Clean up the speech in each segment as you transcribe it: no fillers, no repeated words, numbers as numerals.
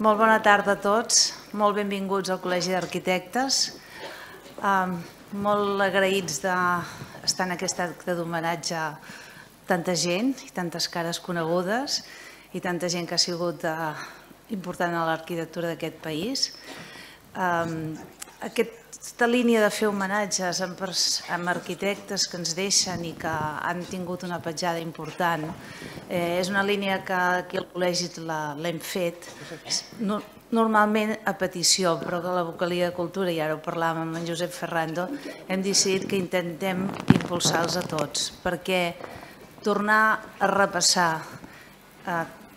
Molt bona tarda a tots, molt benvinguts al Col·legi d'Arquitectes. Molt agraïts d'estar en aquest acte d'homenatge a tanta gent i tantes cares conegudes i tanta gent que ha sigut important a l'arquitectura d'aquest país. Aquesta línia de fer homenatges amb arquitectes que ens deixen i que han tingut una petjada important és una línia que aquí al col·legi l'hem fet normalment a petició, però que la Vocalia de Cultura, i ara ho parlàvem amb en Josep Ferrando, hem decidit que intentem impulsar-los a tots, perquè tornar a repassar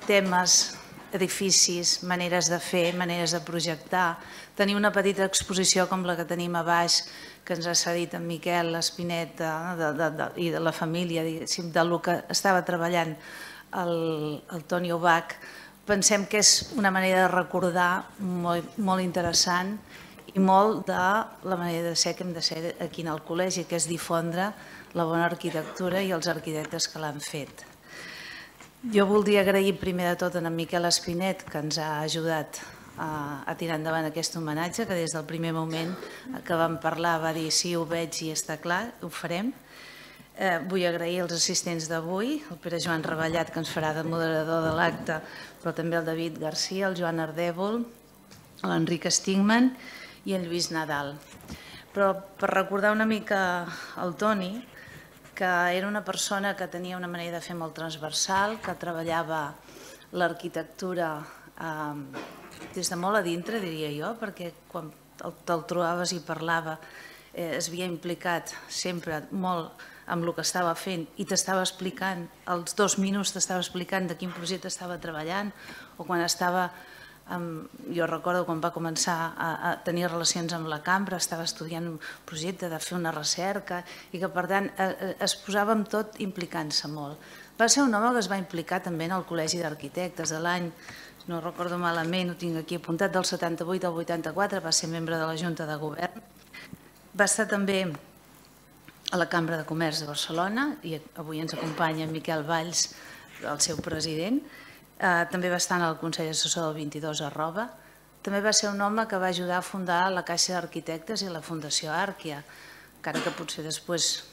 temes, edificis, maneres de fer, maneres de projectar, tenir una petita exposició com la que tenim a baix, que ens ha cedit en Miquel Espinet i de la família, diguéssim, del que estava treballant el Toni Ubach. Pensem que és una manera de recordar molt interessant i molt de la manera de ser que hem de ser aquí en el col·legi, que és difondre la bona arquitectura i els arquitectes que l'han fet. Jo voldria agrair primer de tot a en Miquel Espinet, que ens ha ajudat a tirar endavant aquest homenatge, que des del primer moment que vam parlar va dir sí, ho veig i està clar, ho farem. Vull agrair als assistents d'avui, el Pere Joan Reballat, que ens farà de moderador de l'acte, però també el David Garcia, el Joan Ardèvol, l'Enric Stigman i en Lluís Nadal. Però per recordar una mica el Toni, que era una persona que tenia una manera de fer molt transversal, que treballava l'arquitectura des de molt a dintre, diria jo, perquè quan te'l trobaves i parlava es havia implicat sempre molt amb el que estava fent i t'estava explicant, als 2 minuts t'estava explicant de quin projecte estava treballant, o quan estava, jo recordo quan va començar a tenir relacions amb la cambra, estava estudiant un projecte de fer una recerca i que per tant es posava amb tot implicant-se molt. Va ser un home que es va implicar també en el Col·legi d'Arquitectes de l'any, no recordo malament, ho tinc aquí apuntat, del 78 al 84, va ser membre de la Junta de Govern. Va estar també a la Cambra de Comerç de Barcelona i avui ens acompanya Miquel Valls, el seu president. També va estar en el Consell Assessor del 22 a Roba. També va ser un home que va ajudar a fundar la Caixa d'Arquitectes i la Fundació Àrquia, encara que potser després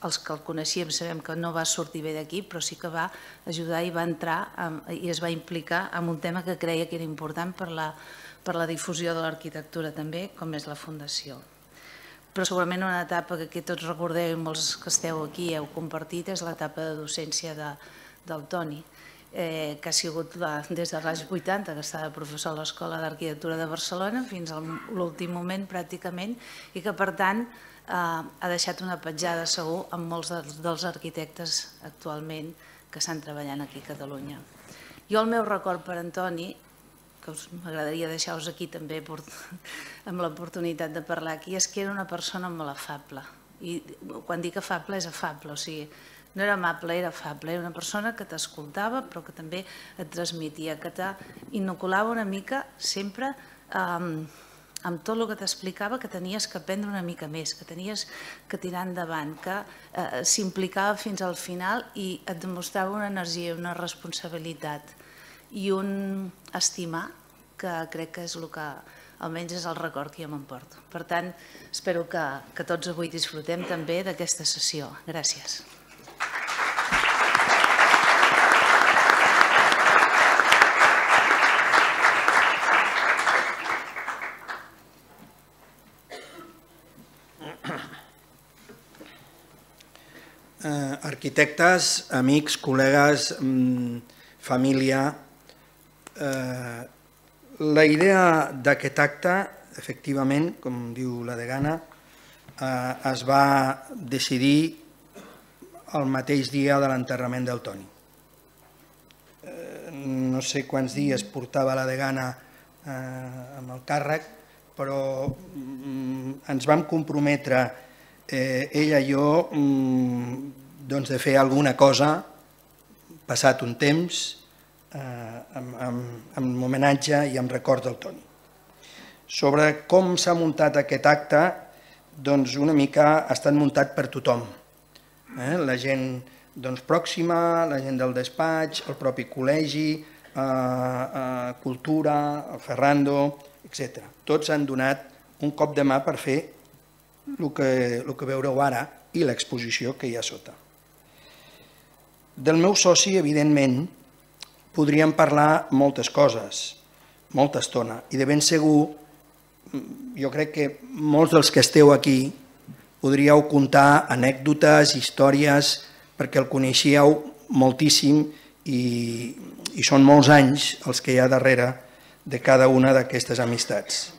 els que el coneixíem sabem que no va sortir bé d'aquí, però sí que va ajudar i va entrar i es va implicar en un tema que creia que era important per la difusió de l'arquitectura també, com és la Fundació. Però segurament una etapa que tots recordeu i molts que esteu aquí heu compartit és l'etapa de docència del Toni, que ha sigut des de l'any 80, que estava professor a l'Escola d'Arquitectura de Barcelona, fins a l'últim moment pràcticament, i que per tant ha deixat una petjada segur amb molts dels arquitectes actualment que estan treballant aquí a Catalunya. Jo el meu record per Toni, que m'agradaria deixar-vos aquí també amb l'oportunitat de parlar aquí, és que era una persona molt afable. I quan dic afable és afable, o sigui, no era amable, era afable. Era una persona que t'escoltava però que també et transmetia, que t'inoculava una mica sempre amb tot el que t'explicava, que tenies que aprendre una mica més, que tenies que tirar endavant, que s'implicava fins al final i et demostrava una energia, una responsabilitat i un estimar que crec que és el que almenys és el record que jo m'emporto. Per tant, espero que tots avui disfrutem també d'aquesta sessió. Gràcies. Arquitectes, amics, col·legues, família, la idea d'aquest acte, efectivament, com diu la degana, es va decidir el mateix dia de l'enterrament del Toni. No sé quants dies portava la degana amb el càrrec, però ens vam comprometre, ella i jo, de fer alguna cosa, passat un temps, amb homenatge i amb record del Toni. Sobre com s'ha muntat aquest acte, doncs una mica ha estat muntat per tothom. La gent pròxima, la gent del despatx, el propi col·legi, Cultura, el Ferrando, etc. Tots han donat un cop de mà per fer el que veureu ara i l'exposició que hi ha sota. Del meu soci, evidentment, podríem parlar moltes coses, molta estona, i de ben segur, jo crec que molts dels que esteu aquí podríeu contar anècdotes, històries, perquè el coneixíeu moltíssim i són molts anys els que hi ha darrere de cada una d'aquestes amistats.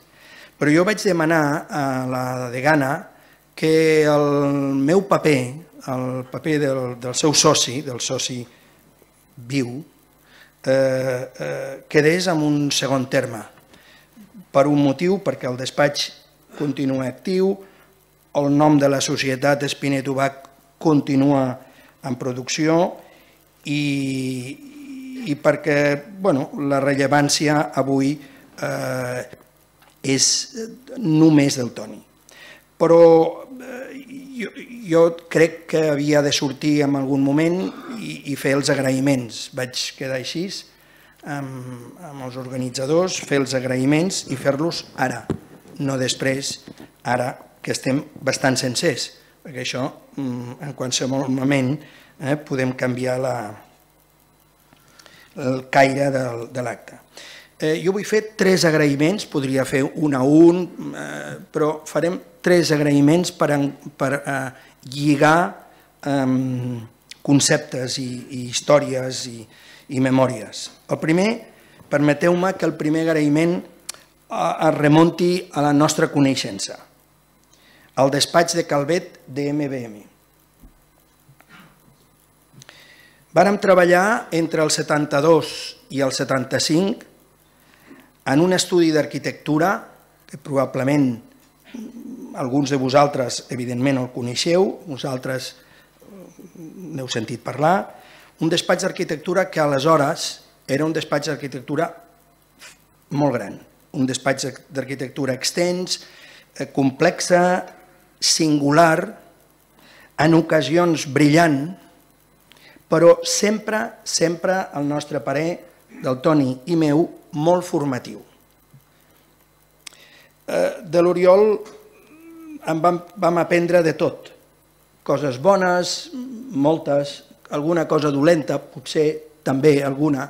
Però jo vaig demanar a la degana que el meu paper, el paper del seu soci, del soci viu, quedés en un segon terme. Per un motiu, perquè el despatx continua actiu, el nom de la societat Espinet-Ubach continua en producció i perquè la rellevància avui és només del Toni. Però jo crec que havia de sortir en algun moment i fer els agraïments. Vaig quedar així amb els organitzadors, fer els agraïments i fer-los ara, no després, ara que estem bastant sencers, perquè això en qualsevol moment podem canviar el caire de l'acte. Jo vull fer 3 agraïments, podria fer un a un, però farem 3 agraïments per lligar conceptes i històries i memòries. El primer, permeteu-me que el primer agraïment es remunti a la nostra coneixença, al despatx de Calvet de MBM. Vàrem treballar entre el 72 i el 75 en un estudi d'arquitectura que probablement alguns de vosaltres evidentment el coneixeu, vosaltres n'heu sentit parlar, un despatx d'arquitectura que aleshores era un despatx d'arquitectura molt gran, un despatx d'arquitectura extens, complexa, singular, en ocasions brillant, però sempre, al nostre parer, del Toni i meu, molt formatiu. De l'Oriol en vam aprendre de tot, coses bones, moltes, alguna cosa dolenta, potser també alguna,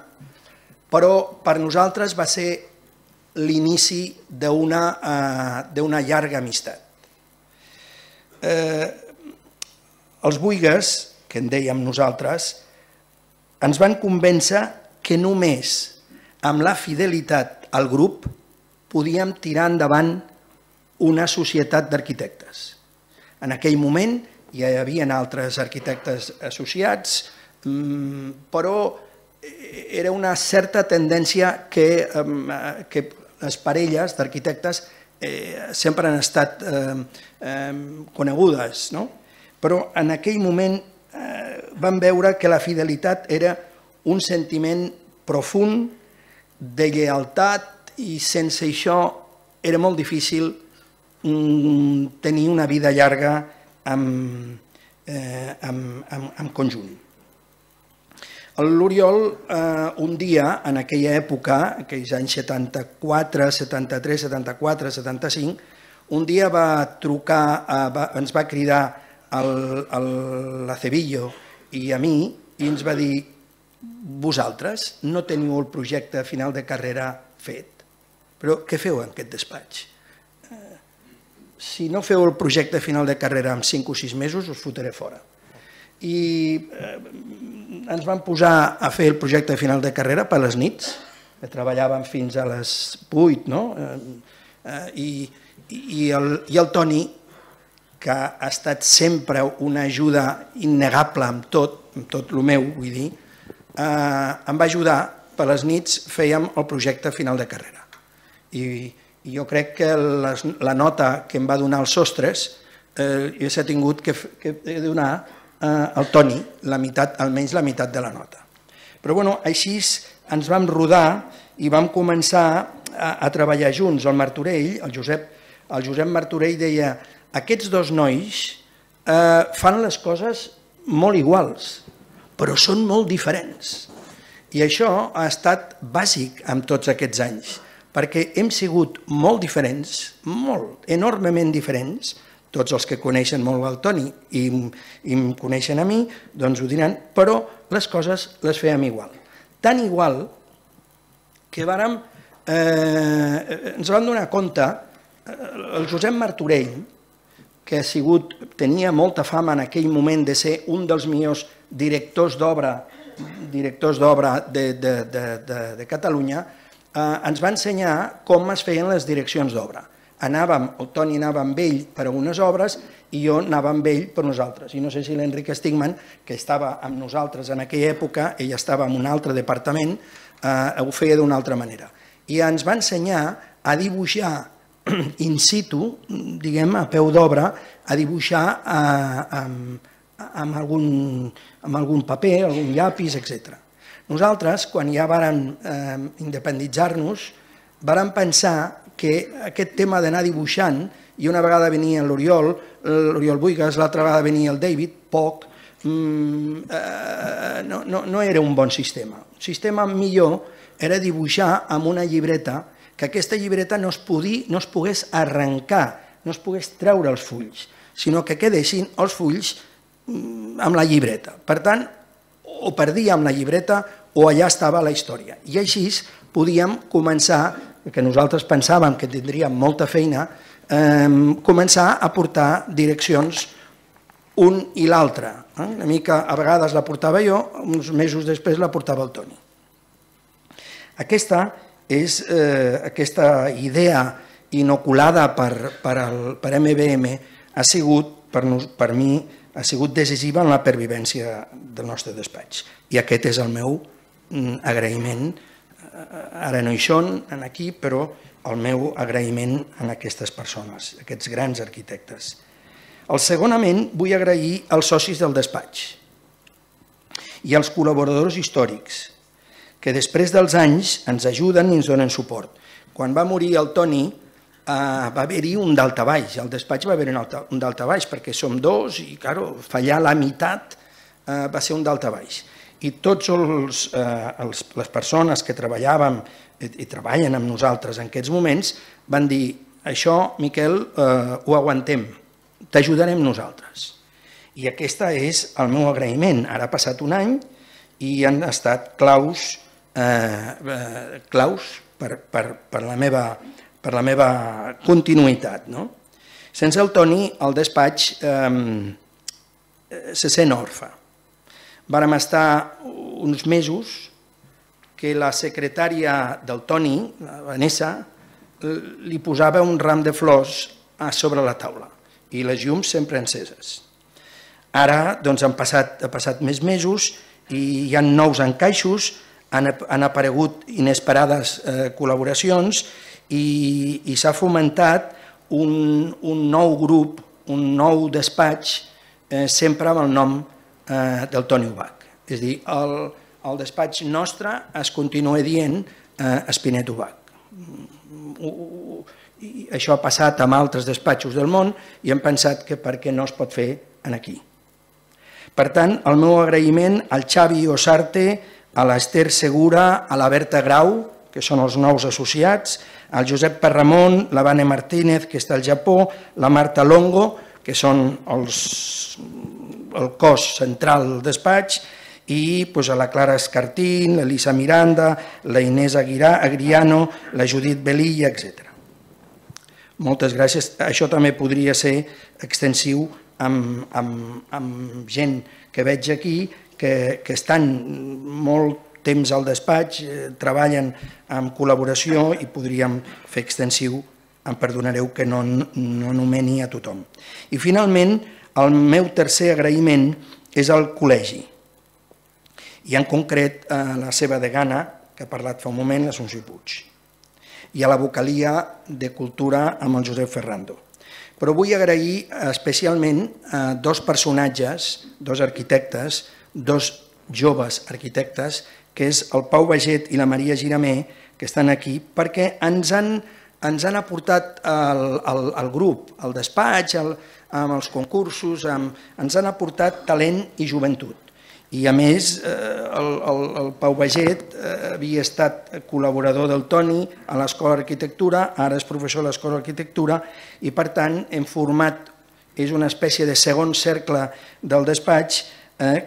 però per nosaltres va ser l'inici d'una llarga amistat. Els Buigas, que en dèiem nosaltres, ens van convèncer que només amb la fidelitat al grup podíem tirar endavant una societat d'arquitectes. En aquell moment ja hi havia altres arquitectes associats, però era una certa tendència que les parelles d'arquitectes sempre han estat conegudes, però en aquell moment vam veure que la fidelitat era un sentiment profund de lleialtat i sense això era molt difícil tenir una vida llarga en conjunt. L'Oriol, un dia, en aquella època, aquells anys 74, 73, 74, 75, un dia va trucar, ens va cridar l'Acevillo i a mi i ens va dir: vosaltres no teniu el projecte final de carrera fet, però què feu en aquest despatx? Si no feu el projecte final de carrera en 5 o 6 mesos, us fotré fora. I ens vam posar a fer el projecte final de carrera per les nits, que treballàvem fins a les 8, no? I el Toni, que ha estat sempre una ajuda innegable amb tot el meu, vull dir, em va ajudar, per les nits fèiem el projecte final de carrera. I jo crec que la nota que em va donar els sostres, jo s'ha tingut que donar al Toni almenys la meitat de la nota. Però així ens vam rodar i vam començar a treballar junts. El Martorell, el Josep Martorell deia: aquests dos nois fan les coses molt iguals, però són molt diferents. I això ha estat bàsic en tots aquests anys, perquè hem sigut molt diferents, molt, enormement diferents. Tots els que coneixen molt el Toni i em coneixen a mi, doncs ho diran, però les coses les fèiem igual. Tan igual que ens vam donar compte, el Josep Martorell, que tenia molta fama en aquell moment de ser un dels millors directors d'obra de Catalunya, ens va ensenyar com es feien les direccions d'obra. El Toni anava amb ell per a unes obres i jo anava amb ell per nosaltres. I no sé si l'Enric Stigman, que estava amb nosaltres en aquella època, ell estava en un altre departament, ho feia d'una altra manera. I ens va ensenyar a dibuixar in situ, diguem, a peu d'obra, a dibuixar amb algun paper, algun llapis, etc. Nosaltres, quan ja vàrem independitzar-nos, vàrem pensar que aquest tema d'anar dibuixant, i una vegada venia l'Oriol Buigas, l'altra vegada venia el David, poc, no era un bon sistema. Un sistema millor era dibuixar amb una llibreta, que aquesta llibreta no es pogués arrencar, no es pogués treure els fulls, sinó que quedessin els fulls amb la llibreta. Per tant, o perdíem la llibreta o allà estava la història. I així podíem començar, que nosaltres pensàvem que tindríem molta feina, començar a portar direccions un i l'altre. Una mica, a vegades la portava jo, uns mesos després la portava el Toni. Aquesta idea inoculada per MBM ha sigut, per mi, ha sigut decisiva en la pervivència del nostre despatx. I aquest és el meu agraïment. Ara no hi són, aquí, però el meu agraïment a aquestes persones, aquests grans arquitectes. Segonament, vull agrair als socis del despatx i als col·laboradors històrics, que després dels anys ens ajuden i ens donen suport. Quan va morir el Toni, va haver-hi un daltabaix, al despatx va haver-hi un daltabaix, perquè som dos i, clar, fallar la meitat va ser un daltabaix. I totes les persones que treballàvem i treballen amb nosaltres en aquests moments van dir: això, Miquel, ho aguantem, t'ajudarem nosaltres. I aquest és el meu agraïment. Ara ha passat un any i han estat claus per la meva continuïtat. Sense el Toni, el despatx se sent orfe. Vàrem estar uns mesos que la secretària del Toni, la Vanessa, li posava un ram de flors a sobre la taula i les llums sempre enceses. Ara han passat més mesos i hi ha nous encaixos, han aparegut inesperades col·laboracions i s'ha fomentat un nou grup, un nou despatx, sempre amb el nom del Toni Ubach. És a dir, el despatx nostre es continua dient Espinet Ubach. Això ha passat amb altres despatxos del món i hem pensat que per què no es pot fer aquí. Per tant, el meu agraïment al Xavi Osarte, a l'Ester Segura, a la Berta Grau, que són els nous associats, al Josep Perramon, la Vane Martínez, que està al Japó, la Marta Longo, que són el cos central del despatx, i a la Clara Escartín, l'Elisa Miranda, la Inés Agriano, la Judit Belilla, etc. Moltes gràcies. Això també podria ser extensiu amb gent que veig aquí, que estan molt temps al despatx, treballen en col·laboració i podríem fer extensiu, em perdonareu que no nomeni a tothom. I finalment, el meu tercer agraïment és al col·legi, i en concret a la seva degana, que ha parlat fa un moment, l'Assumpció Puig, i a la vocalia de Cultura amb el Josep Ferrando. Però vull agrair especialment a dos personatges, dos arquitectes, dos joves arquitectes, que és el Pau Baget i la Maria Giramé, que estan aquí, perquè ens han aportat al grup, al despatx, amb els concursos, ens han aportat talent i joventut. I a més, el Pau Baget havia estat col·laborador del Toni a l'Escola d'Arquitectura, ara és professor a l'Escola d'Arquitectura, i per tant hem format, és una espècie de segon cercle del despatx,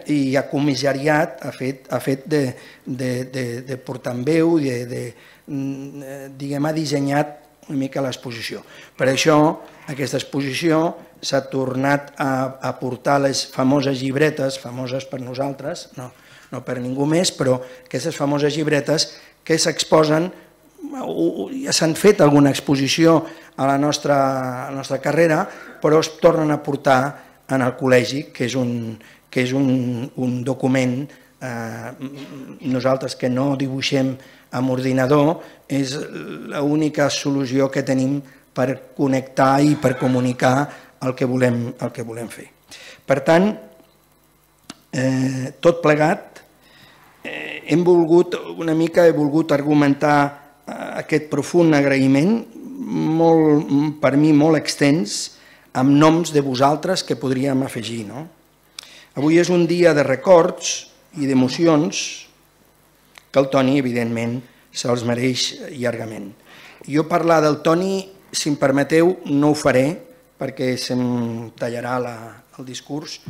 i ha comissariat, ha fet de portaveu, diguem, ha dissenyat una mica l'exposició. Per això, aquesta exposició s'ha tornat a portar les famoses llibretes, famoses per nosaltres, no per ningú més, però aquestes famoses llibretes que s'exposen, ja s'han fet alguna exposició a la nostra carrera, però es tornen a portar en el col·legi, que és un document, nosaltres que no dibuixem amb ordinador, és l'única solució que tenim per connectar i per comunicar el que volem fer. Per tant, tot plegat, he volgut argumentar aquest profund agraïment, per mi molt extens, amb noms de vosaltres que podríem afegir. Avui és un dia de records i d'emocions que el Toni, evidentment, se'ls mereix llargament. Jo parlar del Toni, si em permeteu, no ho faré, perquè se'm tallarà el discurs,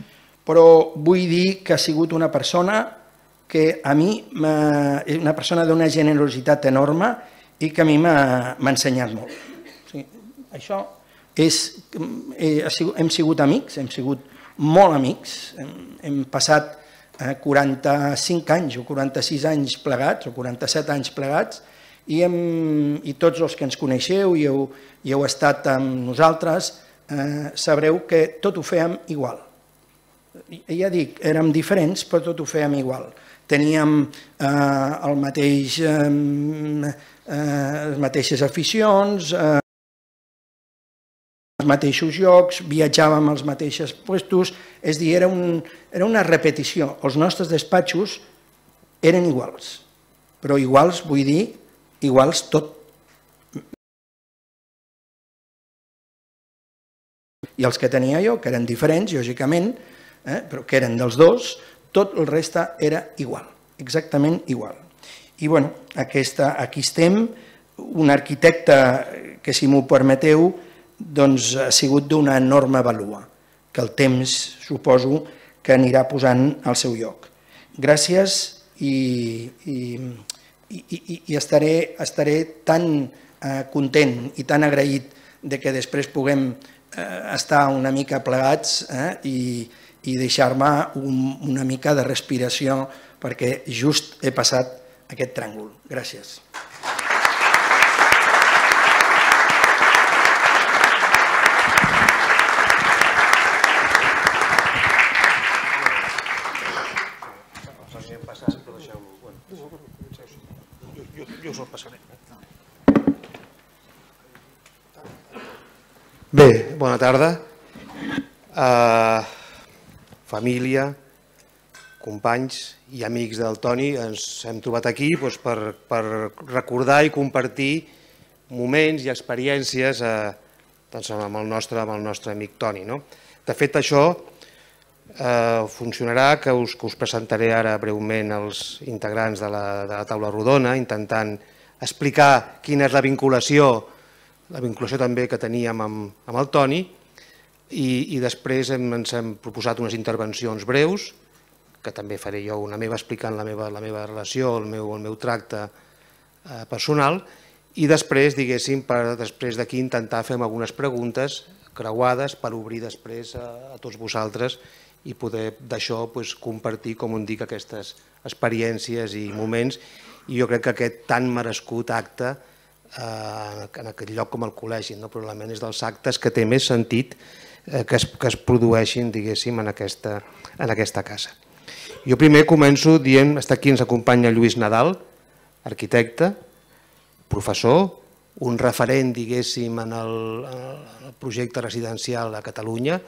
però vull dir que ha sigut una persona que a mi, una persona d'una generositat enorme i que a mi m'ha ensenyat molt. Això hem sigut amics, hem sigut molt amics, hem passat 45 anys o 46 anys plegats o 47 anys plegats i tots els que ens coneixeu i heu estat amb nosaltres sabreu que tot ho fèiem igual. Ja dic, érem diferents però tot ho fèiem igual. Teníem les mateixes aficions, els mateixos llocs, viatjàvem als mateixos puestos, és a dir, era una repetició. Els nostres despatxos eren iguals, però iguals vull dir iguals tot. I els que tenia jo, que eren diferents, lògicament, però que eren dels dos, tot el reste era igual, exactament igual. I bé, aquí estem, un arquitecte que, si m'ho permeteu, ha sigut d'una enorme vàlua, que el temps suposo que anirà posant al seu lloc. Gràcies i estaré tan content i tan agraït que després puguem estar una mica plegats i deixar-me una mica de respiració perquè just he passat aquest tràngol. Gràcies. Jo us el passaré. Bé, bona tarda. Família, companys i amics del Toni, ens hem trobat aquí per recordar i compartir moments i experiències amb el nostre amic Toni. De fet, això funcionarà que us presentaré ara breument els integrants de la taula rodona, intentant explicar quina és la vinculació també que teníem amb el Toni, i després ens hem proposat unes intervencions breus, que també faré jo una meva explicant la meva relació, el meu tracte personal, i després, diguéssim, després d'aquí intentar fer algunes preguntes creuades per obrir després a tots vosaltres i poder d'això compartir, com us dic, aquestes experiències i moments, i jo crec que aquest tan merescut acte en aquest lloc com el col·legi, probablement és dels actes que té més sentit que es produeixin, diguéssim, en aquesta casa. Jo primer començo dient, aquí ens acompanya Lluís Nadal, arquitecte, professor, un referent, diguéssim, en el projecte residencial a Catalunya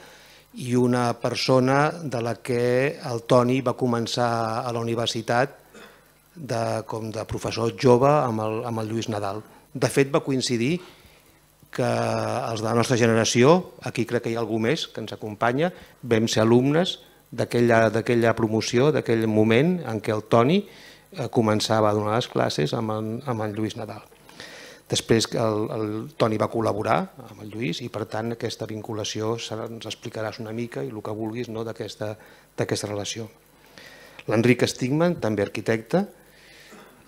i una persona de la que el Toni va començar a la universitat com de professor jove amb el Lluís Nadal. De fet, va coincidir que els de la nostra generació, aquí crec que hi ha algú més que ens acompanya, vam ser alumnes d'aquella promoció, d'aquell moment en què el Toni començava a donar les classes amb en Lluís Nadal. Després el Toni va col·laborar amb el Lluís i per tant aquesta vinculació ens explicaràs una mica i el que vulguis d'aquesta relació. L'Enric Stigman, també arquitecte.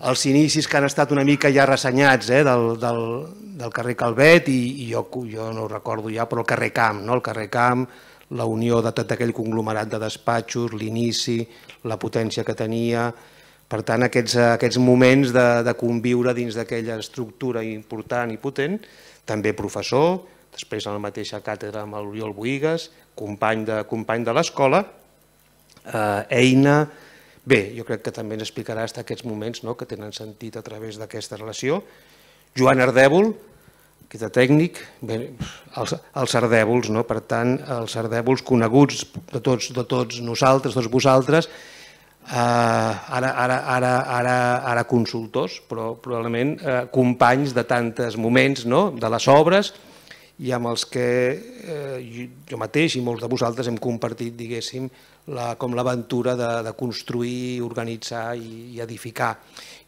Els inicis que han estat una mica ja ressenyats del carrer Calvet i jo no ho recordo ja, però el carrer Camp, el carrer Camp, la unió de tot aquell conglomerat de despatxos, l'inici, la potència que tenia. Per tant, aquests moments de conviure dins d'aquella estructura important i potent, també professor, després a la mateixa càtedra amb l'Oriol Boïgues, company de l'escola, eina. Bé, jo crec que també ens explicarà aquests moments que tenen sentit a través d'aquesta relació. Joan Ardèvol, arquitecte tècnic, els ardèvols, per tant, els ardèvols coneguts de tots nosaltres, tots vosaltres, ara consultors, però probablement companys de tants moments de les obres i amb els que jo mateix i molts de vosaltres hem compartit, diguéssim, com l'aventura de construir, organitzar i edificar.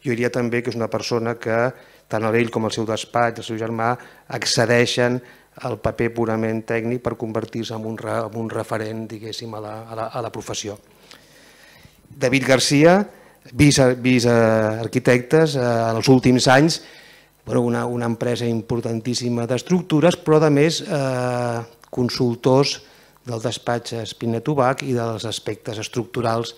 Jo diria també que és una persona que tant ell com el seu despatx, el seu germà, accedeixen al paper purament tècnic per convertir-se en un referent, diguéssim, a la professió. David Garcia, vicearquitectes, en els últims anys, una empresa importantíssima d'estructures, però a més consultors del despatx Espinet Ubach i dels aspectes estructurals,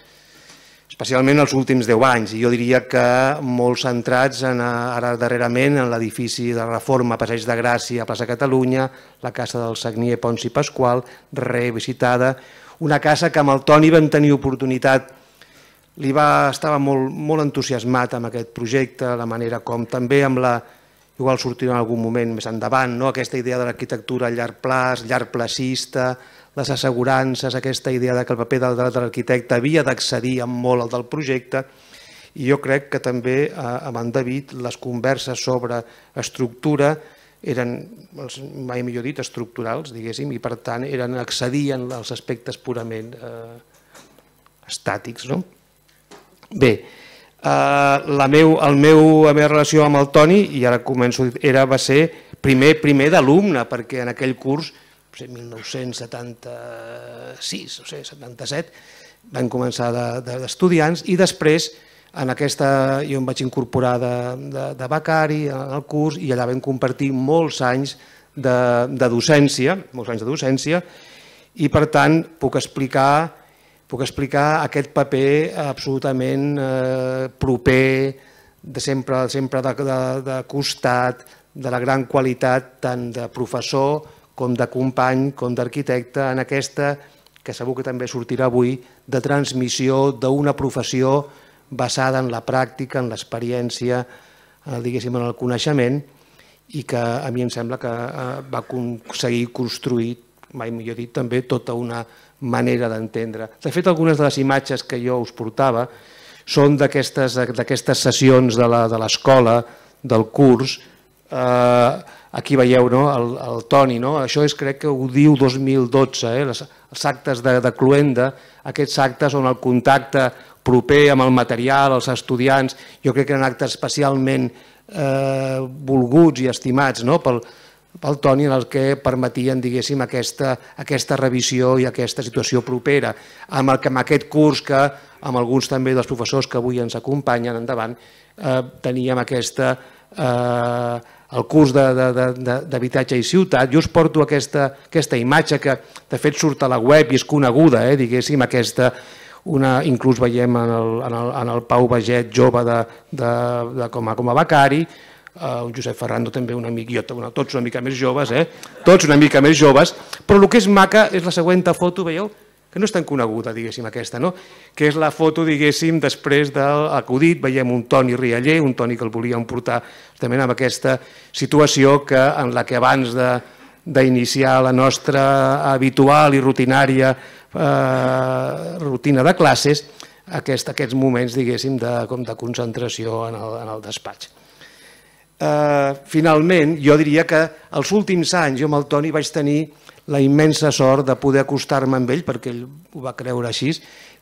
especialment els últims 10 anys. I jo diria que molt centrats ara darrerament en l'edifici de reforma Passeig de Gràcia a plaça Catalunya, la casa del Sagnier Pons i Pasqual, revisitada, una casa que amb el Toni vam tenir oportunitat, estava molt entusiasmat amb aquest projecte, la manera com també amb la, igual sortirà en algun moment més endavant, aquesta idea de l'arquitectura a llarg plaç, llarg placista, les assegurances, aquesta idea que el paper de l'arquitecte havia d'accedir amb molt al del projecte, i jo crec que també amb en David les converses sobre estructura eren, mai millor dit, estructurals, diguéssim, i per tant accedien als aspectes purament estàtics. Bé, la meva relació amb el Toni, i ara començo, va ser primer d'alumne, perquè en aquell curs, 1976 o 77, vam començar d'estudiants i després jo em vaig incorporar de becari al curs i allà vam compartir molts anys de docència, i per tant puc explicar aquest paper absolutament proper, sempre de costat, de la gran qualitat tant de professor com de company, com d'arquitecte, en aquesta, que segur que també sortirà avui, de transmissió d'una professió basada en la pràctica, en l'experiència, diguéssim, en el coneixement, i que a mi em sembla que va aconseguir construir, mai millor dit, també tota una manera d'entendre. De fet, algunes de les imatges que jo us portava són d'aquestes sessions de l'escola, del curs. Aquí veieu el Toni, això crec que ho diu 2012, els actes de Cluenda, aquests actes on el contacte proper amb el material, els estudiants, jo crec que eren actes especialment volguts i estimats pel Toni, en els que permetien, diguéssim, aquesta revisió i aquesta situació propera. Amb aquest curs que, amb alguns també dels professors que avui ens acompanyen endavant, teníem el curs d'habitatge i ciutat. Jo us porto aquesta imatge que de fet surt a la web i és coneguda, diguéssim, inclús veiem en el Pau Baget jove com a becari, un Josep Ferrando també un amic, tots una mica més joves, però el que és maca és la següent foto, veieu? Que no és tan coneguda, diguéssim, aquesta, que és la foto, diguéssim, després de l'acudit, veiem un Toni Rialler, un Toni que el volíem portar justament amb aquesta situació en la que abans d'iniciar la nostra habitual i rutinària rutina de classes, aquests moments, diguéssim, de concentració en el despatx. Finalment, jo diria que els últims anys jo amb el Toni vaig tenir la immensa sort de poder acostar-me amb ell, perquè ell ho va creure així,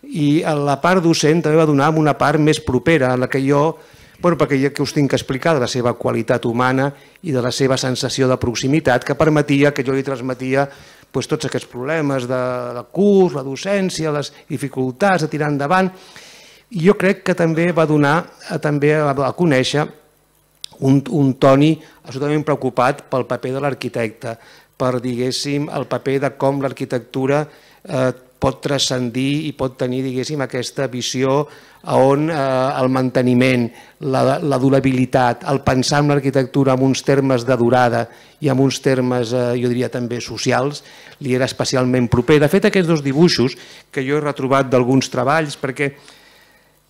i la part docent també va donar una part més propera, en la que jo, perquè ja que us tinc que explicar de la seva qualitat humana i de la seva sensació de proximitat, que permetia que jo li transmetia tots aquests problemes del curs, la docència, les dificultats de tirar endavant. I jo crec que també va donar a conèixer un Toni absolutament preocupat pel paper de l'arquitecte, per, diguéssim, el paper de com l'arquitectura pot transcendir i pot tenir, diguéssim, aquesta visió on el manteniment, la durabilitat, el pensar en l'arquitectura en uns termes de durada i en uns termes, jo diria també socials, li era especialment proper. De fet, aquests dos dibuixos que jo he retrobat d'alguns treballs, perquè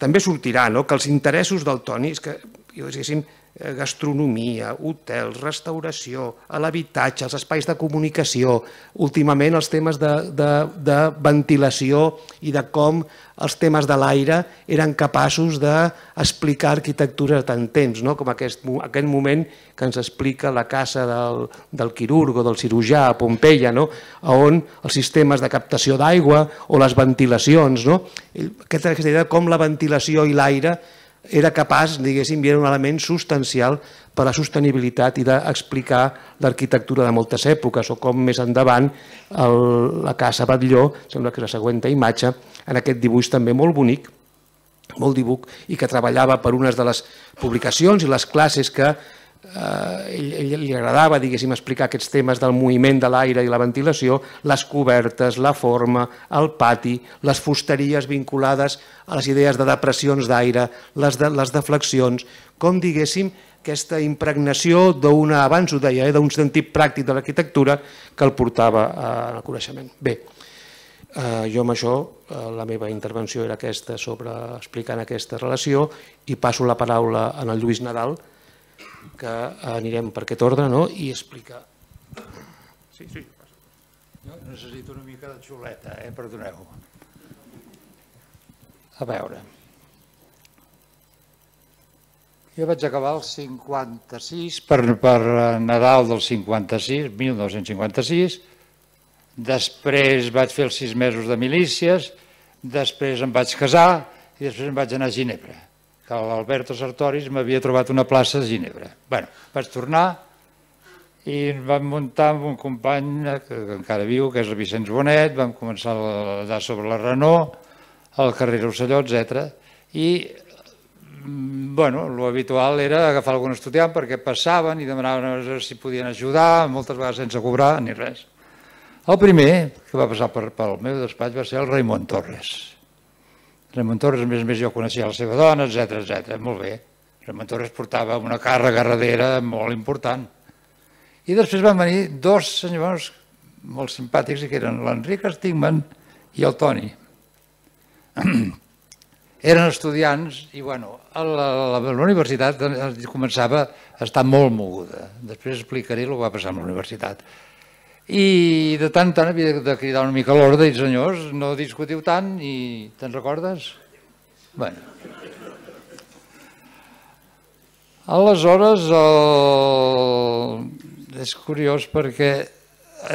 també sortirà que els interessos del Toni, és que, diguéssim, gastronomia, hotels, restauració, l'habitatge, els espais de comunicació, últimament els temes de ventilació i de com els temes de l'aire eren capaços d'explicar arquitectura a tant temps, com aquest moment que ens explica la casa del quirurg o del cirurgià a Pompeia, on els sistemes de captació d'aigua o les ventilacions, aquesta idea de com la ventilació i l'aire era capaç, diguéssim, era un element substancial per a la sostenibilitat i d'explicar l'arquitectura de moltes èpoques, o com més endavant la Casa Batlló, sembla que és la següent imatge, en aquest dibuix també molt bonic, molt dibuix, i que treballava per unes de les publicacions i les classes que ell li agradava, diguéssim, explicar aquests temes del moviment de l'aire i la ventilació, les cobertes, la forma, el pati, les fusteries vinculades a les idees de depressions d'aire, les deflexions, com, diguéssim, aquesta impregnació d'una, abans ho deia, d'un sentit pràctic de l'arquitectura que el portava al coneixement. Bé, jo amb això, la meva intervenció era aquesta sobre explicant aquesta relació i passo la paraula a Lluís Nadal, que anirem per aquest ordre i explicar. Sí. Jo necessito una mica de xuleta, perdoneu. A veure. Jo vaig acabar el 56, per Nadal del 56, 1956, després vaig fer els 6 mesos de milícies, després em vaig casar i després em vaig anar a Ginebra, que l'Alberto Sartoris m'havia trobat una plaça a Ginebra. Bé, vaig tornar i vam muntar amb un company que encara viu, que és el Vicenç Bonet, vam començar a dar sobre la Renault, al carrer Rosselló, etc. I, bueno, l'habitual era agafar algun estudiant perquè passaven i demanaven si podien ajudar, moltes vegades sense cobrar ni res. El primer que va passar pel meu despatx va ser el Raimon Torres. Raimon Torres, a més, jo coneixia la seva dona, etc. Molt bé. Raimon Torres portava una càrrega darrere molt important. I després van venir 2 senyors molt simpàtics, que eren l'Enric Stigman i el Toni. Eren estudiants i, bueno, la universitat començava a estar molt moguda. Després explicaré el que va passar amb la universitat. I de tant en tant havia de cridar una mica l'ordre i dir, senyors, no discutiu tant i te'n recordes? Bé. Aleshores, és curiós perquè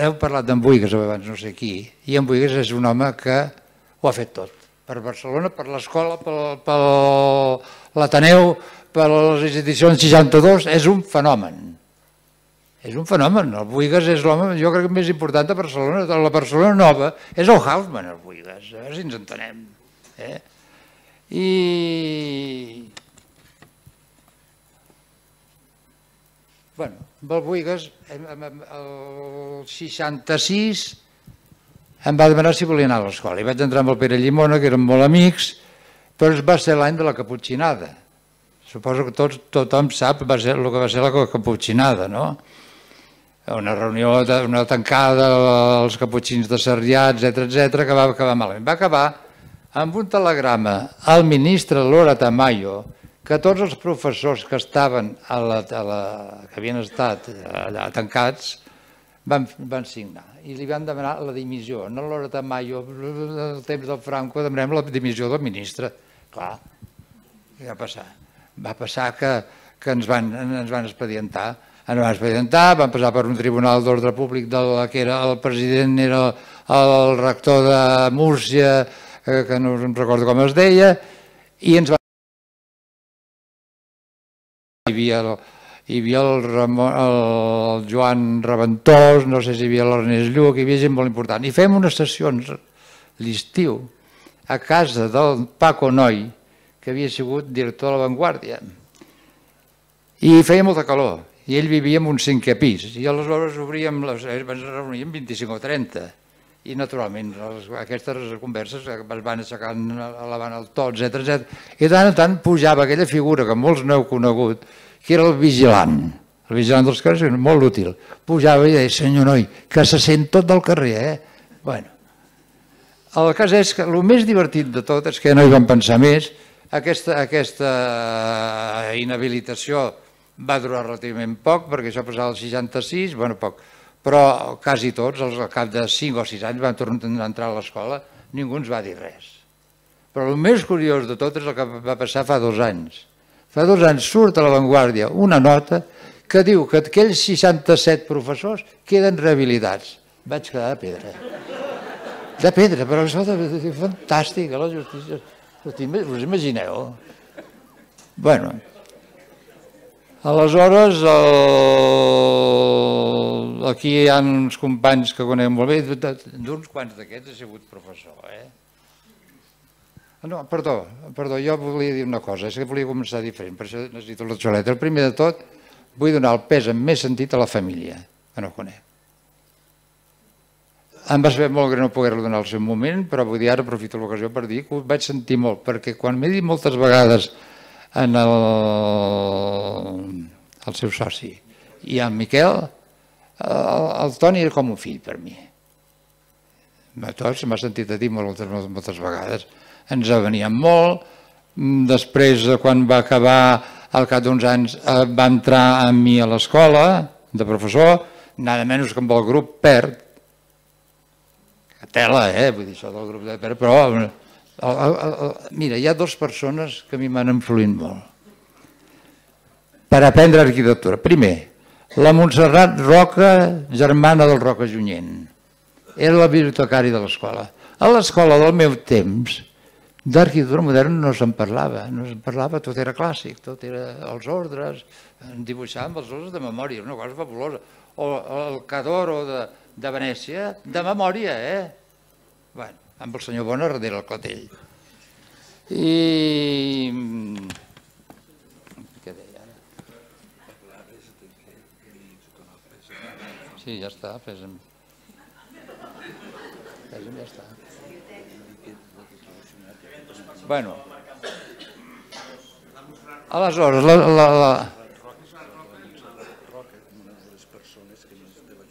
heu parlat d'en Buigas abans, no sé qui, i en Buigas és un home que ho ha fet tot. Per Barcelona, per l'escola, per l'Ateneu, per les institucions 62, és un fenomen. És un fenomen. El Buigas és l'home, jo crec, més important de Barcelona. De la Barcelona nova és el Haussmann, el Buigas, a veure si ens entenem. I... Bueno, amb el Buigas, el 66, em va demanar si volia anar a l'escola. I vaig entrar amb el Pere Llimona, que érem molt amics, però va ser l'any de la caputxinada. Suposo que tothom sap el que va ser la caputxinada, no? Una reunió, una tancada als caputxins de Sarrià, etc., que va acabar malament. Va acabar amb un telegrama al ministre Lora Tamayo que tots els professors que estaven que havien estat allà tancats van signar i li van demanar la dimissió. No Lora Tamayo, al temps del Franco, demanem la dimissió del ministre. Clar, què va passar? Va passar que ens van expedientar. ens vam expedientar, vam passar per un tribunal d'ordre públic que era el president, era el rector de Múrcia, que no em recordo com es deia, i ens va... Hi havia el Joan Reventós, no sé si hi havia l'Ernest Lluc, hi havia gent molt important. I fèiem unes sessions l'estiu a casa del Paco Noi, que havia sigut director de La Vanguardia. I feia molta calor, i ell vivia en un 5è pis, i aleshores ens reuníem 25 o 30, i naturalment aquestes converses es van aixecant, elevant el to, etc. I de tant en tant pujava aquella figura que molts no heu conegut, que era el vigilant dels carrers, molt útil. Pujava i deia, senyor Noi, que se sent tot del carrer, Bueno, el cas és que el més divertit de tot és que no hi vam pensar més, aquesta inhabilitació va durar relativament poc, perquè això passava al 66, bueno, poc, però quasi tots, al cap de 5 o 6 anys, van tornar a entrar a l'escola, ningú ens va dir res. Però el més curiós de tot és el que va passar fa 2 anys. Fa 2 anys surt a La Vanguardia una nota que diu que aquells 67 professors queden rehabilitats. Vaig quedar de pedra. De pedra, però és fantàstic, la justícia. Us imagineu? Bueno, aleshores, aquí hi ha uns companys que conec molt bé, d'uns quants d'aquests he sigut professor, No, perdó, jo volia dir una cosa, és que volia començar diferent, per això necessito la xoleta. El primer de tot, vull donar el pes amb més sentit a la família, que no conec. Em va saber molt greu no poder-lo donar al seu moment, però vull dir, ara aprofito l'ocasió per dir que ho vaig sentir molt, perquè quan m'he dit moltes vegades al seu soci i al Miquel, el Toni era com un fill per mi. A tots m'ha sentit a dir moltes vegades. Ens aveníem molt, després quan va acabar, al cap d'uns anys, va entrar amb mi a l'escola de professor, nada menys que amb el grup PERT, tela, vull dir això del grup de PERT, però mira, hi ha 2 persones que a mi m'han influït molt per aprendre arquitectura. Primer, la Montserrat Roca, germana del Roca Junyent, era la bibliotecària de l'escola. A l'escola del meu temps, d'arquitectura moderna no se'n parlava, tot era clàssic, tot era els ordres, dibuixàvem els ordres de memòria, una cosa fabulosa. O el Cadoro de Venècia, de memòria, Bueno, amb el senyor Bona darrere el clatell. I... Què deia ara? Sí, ja està, fesa'm. Fesa'm, ja està. Bueno, aleshores,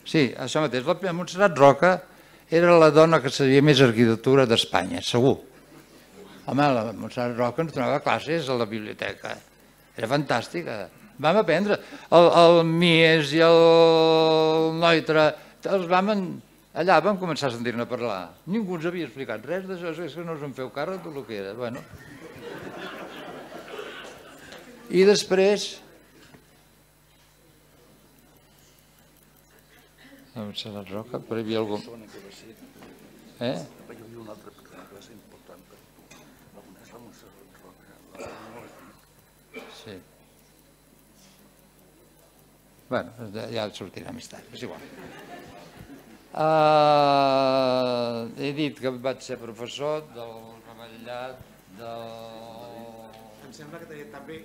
sí, això mateix, la Montserrat Roca era la dona que sabia més arquitectura d'Espanya, segur. Home, la Montserrat Roca ens donava classes a la biblioteca, era fantàstica. Vam aprendre, el Mies i el Neutra, allà vam començar a sentir-ne parlar. Ningú ens havia explicat res d'això, és que no us en feu càrrec del que era. I després... La Montserrat Roca, però hi havia algú... Hi havia una altra classe important per tu. La és la Montserrat Roca. Sí. Bueno, ja sortirà més tard, és igual. He dit que vaig ser professor del Revetllat, Em sembla que també...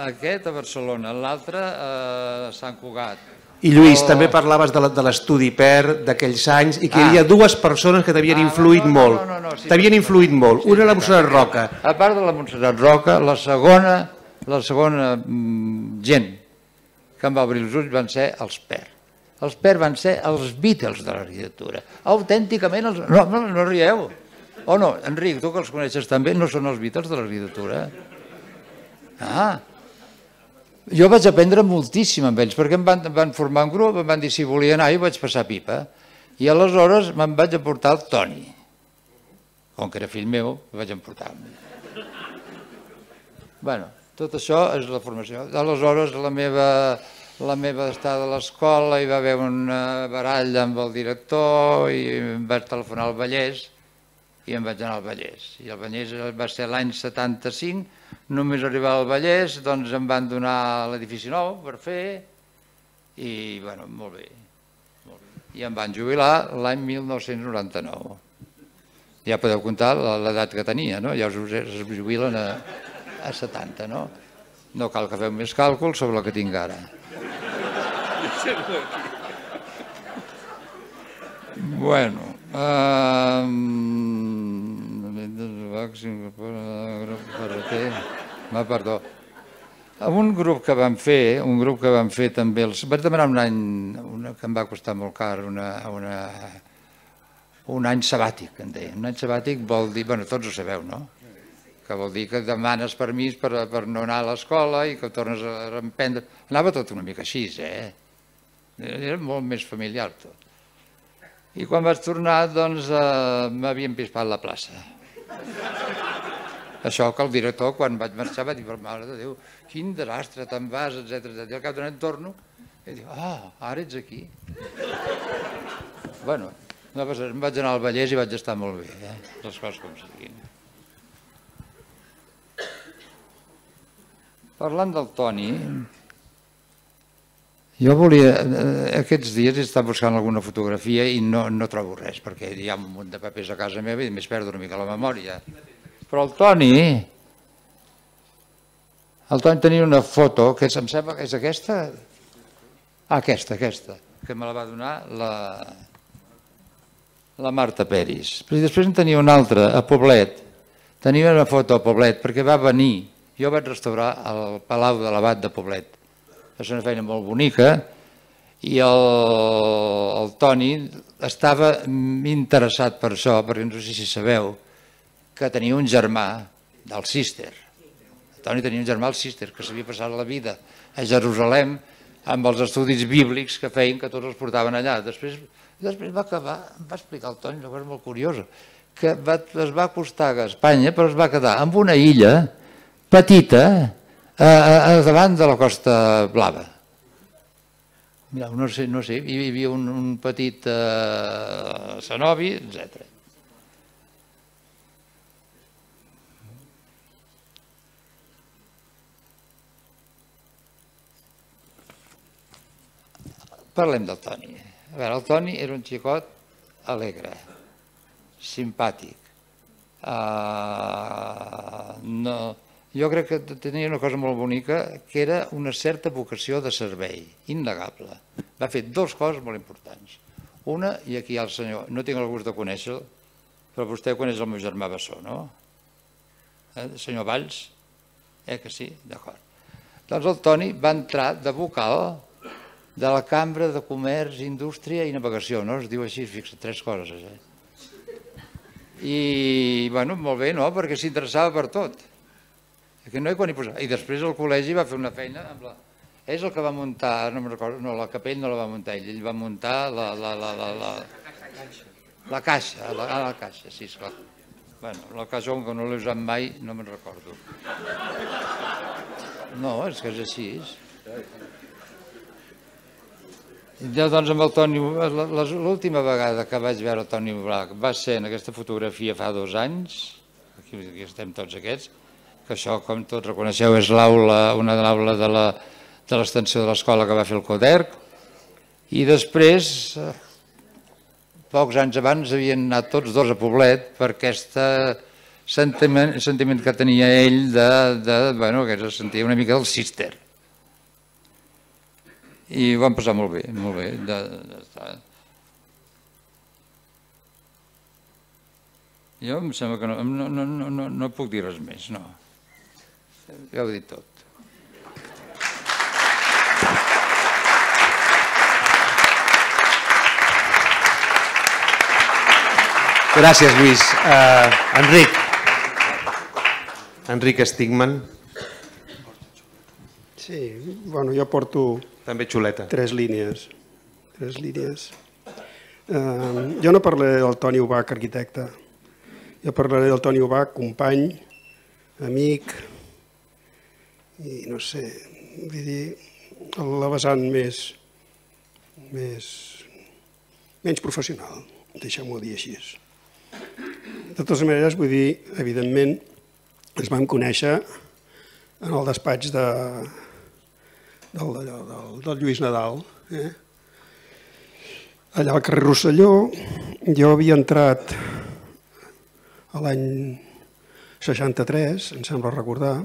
Aquest a Barcelona, l'altre a Sant Cugat. I Lluís, també parlaves de l'estudi PERT d'aquells anys i que hi havia 2 persones que t'havien influït molt. T'havien influït molt. Una la Montserrat Roca. A part de la Montserrat Roca, la segona gent que em va obrir els ulls van ser els PERT. Els PERT van ser els Beatles de l'arquitectura. Autènticament els... No rieu. O no, Enric, tu que els coneixes també, no són els Beatles de l'arquitectura. Jo vaig aprendre moltíssim amb ells, perquè em van formar un grup, em van dir si volia anar, i vaig passar pipa. I aleshores me'n vaig emportar el Toni. Com que era fill meu, el vaig emportar. Bueno, Tot això és la formació. Aleshores, la meva estada a l'escola, hi va haver una baralla amb el director i em vaig telefonar al Vallès i em vaig anar al Vallès. I el Vallès va ser l'any 75, només arribar al Vallès, doncs em van donar l'edifici nou per fer i, bueno, molt bé. I em van jubilar l'any 1999. Ja podeu comptar l'edat que tenia, no? Ja es jubilen a 70, no? No cal que feu més càlculs sobre el que tinc ara. Bueno, perdó. Un grup que vam fer també, vaig demanar un any, que em va costar molt car, un any sabàtic, en deia. Un any sabàtic vol dir, bueno, tots ho sabeu, no? Que vol dir que demanes permís per no anar a l'escola i que tornes a reemprendre. Anava tot una mica així, Era molt més familiar tot. I quan vaig tornar, doncs, m'havien pispat la plaça. Això que el director, quan vaig marxar, va dir, per mare de Déu, quin desastre, te'n vas, etc. I al cap d'un any torno i dic, ara ets aquí. Bueno, em vaig anar al Vallès i vaig estar molt bé, les coses com siguin. Parlant del Toni, jo volia, aquests dies he estat buscant alguna fotografia i no trobo res, perquè hi ha un munt de papers a casa meva i més perdo una mica la memòria. Però el Toni tenia una foto, que em sembla que és aquesta, aquesta, que me la va donar la Marta Peris. I després en tenia una altra, a Poblet, tenia una foto a Poblet, perquè va venir. Jo vaig restaurar el Palau de l'Abat de Poblet. És una feina molt bonica i el Toni estava interessat per això, perquè no sé si sabeu que tenia un germà del Cister. El Toni tenia un germà al Cister que s'havia passat la vida a Jerusalem amb els estudis bíblics que feien que tots els portaven allà. Després va acabar, em va explicar el Toni una cosa molt curiosa, que es va acostar a Espanya però es va quedar en una illa petita davant de la Costa Blava. Mireu, no sé, hi havia un petit cenobi, etc. Parlem del Toni. A veure, el Toni era un xicot alegre, simpàtic. Jo crec que tenia una cosa molt bonica, que era una certa vocació de servei, innegable. Va fer dues coses molt importants. Una, i aquí hi ha el senyor, no tinc el gust de conèixer-lo, però vostè coneix el meu germà Bessó, no? El senyor Valls? Que sí? D'acord. Doncs el Toni va entrar de vocal de la Cambra de Comerç, Indústria i Navegació, no? Es diu així, fixa, 3 coses. I, bueno, molt bé, no? Perquè s'interessava per tot. I després al col·legi va fer una feina amb la... És el que va muntar, no me'n recordo, no, la Capell no la va muntar ell va muntar la caixa, la caixa, sí, esclar. Bueno, la caixa, com que no l'he usat mai, no me'n recordo. No, és que és així. Doncs amb el Toni, l'última vegada que vaig veure el Toni Black va ser en aquesta fotografia fa 2 anys, aquí estem tots aquests, que això, com tots reconeixeu, és una aula de l'extensió de l'escola que va fer el Coderc, i després, pocs anys abans, havien anat tots dos a Poblet per aquest sentiment que tenia ell que se sentia una mica del Cister. I ho vam passar molt bé, molt bé. Jo em sembla que no puc dir res més, no. Ja ho he dit tot. Gràcies, Lluís. Enric Stigman. Sí, bueno, jo porto... També xuleta. 3 línies. Jo no parlaré del Toni Ubach, arquitecte. Jo parlaré del Toni Ubach, company, amic i no sé, vull dir, la vessant menys professional, deixem-ho dir així. De totes maneres, vull dir, evidentment, ens vam conèixer en el despatx del Lluís Nadal. Allà al carrer Rosselló, jo havia entrat a l'any 63, em sembla recordar,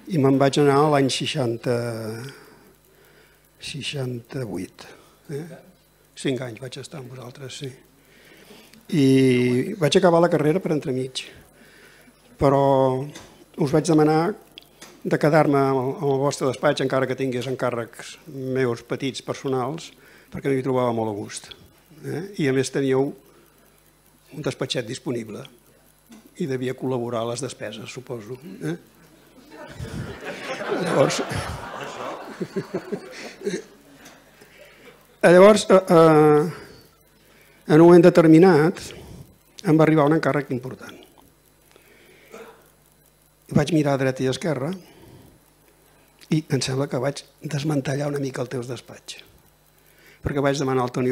i me'n vaig anar a l'any 68. 5 anys vaig estar amb vosaltres, sí. I vaig acabar la carrera per entremig, però us vaig demanar de quedar-me al vostre despatx, encara que tingués encàrrecs meus petits personals, perquè m'hi trobava molt a gust. I a més teníeu un despatxet disponible i devia col·laborar a les despeses, suposo. Llavors, en un moment determinat, em va arribar un encàrrec important. Vaig mirar a dreta i a esquerra i em sembla que vaig desmantellar una mica el teu despatx. Perquè vaig demanar al Toni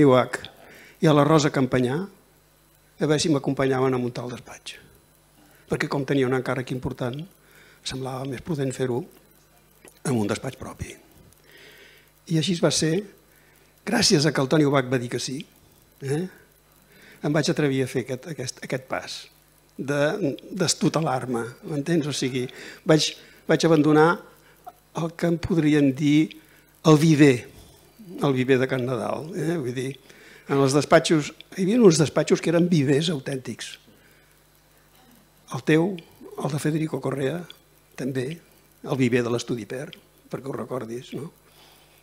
Ubach i a la Rosa Campanyà a veure si m'acompanyaven a muntar el despatx. Perquè com tenia un encàrrec important, semblava més prudent fer-ho en un despatx propi. I així va ser, gràcies a que el Toni Ubach va dir que sí, em vaig atrevir a fer aquest pas d'estutelar-me, m'entens? O sigui, vaig abandonar el que em podrien dir el viver de Can Nadal. Vull dir, en els despatxos, hi havia uns despatxos que eren vivers autèntics. El teu, el de Federico Correa, també, el viver de l'Estudi Per, perquè ho recordis, no?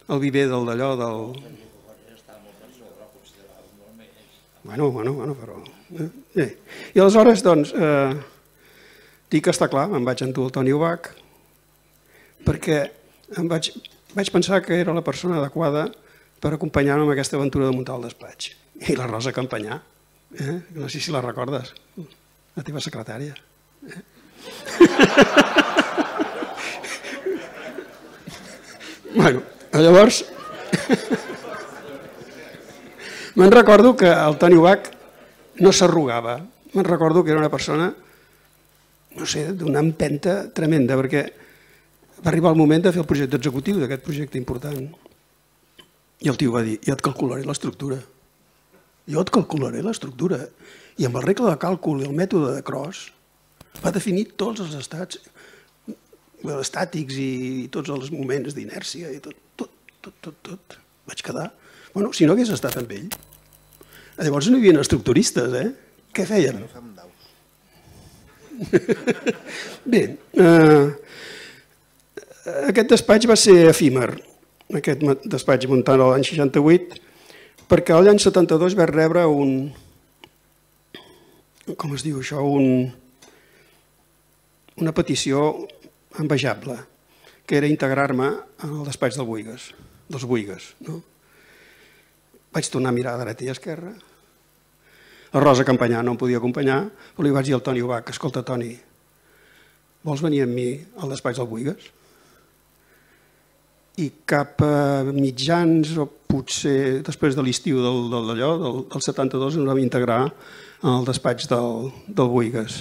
El viver d'allò del... Bueno, però... I aleshores, doncs, dic que està clar, em vaig endur el Toni Ubach, perquè vaig pensar que era la persona adequada per acompanyar-me en aquesta aventura de muntar el despatx. I la Rosa Campanyà, no sé si la recordes, la teva secretària. Bueno, llavors, me'n recordo que el Toni Ubach no s'arrugava, me'n recordo que era una persona, no sé, d'una empenta tremenda, perquè va arribar el moment de fer el projecte executiu d'aquest projecte important. I el tio va dir, ja et calcularé l'estructura. Jo et calcularé l'estructura. I amb la regla de càlcul i el mètode de Cross va definir tots els estats estàtics i tots els moments d'inèrcia i tot. Vaig quedar... Bueno, si no hagués estat amb ell, llavors no hi havia estructuristes, Què feien? Bé, aquest despatx va ser efímer, aquest despatx muntant l'any 68, perquè l'any 72 vaig rebre un... Com es diu això? Una petició envejable, que era integrar-me en el despatx dels Buigas. Vaig tornar a mirar a dreta i a esquerra. La Rosa Campanyà no em podia acompanyar, però li vaig dir al Toni Ubach, escolta, Toni, vols venir amb mi al despatx del Buigas? I cap a mitjans, o potser després de l'estiu del 72, ens vam integrar en el despatx del Buigas.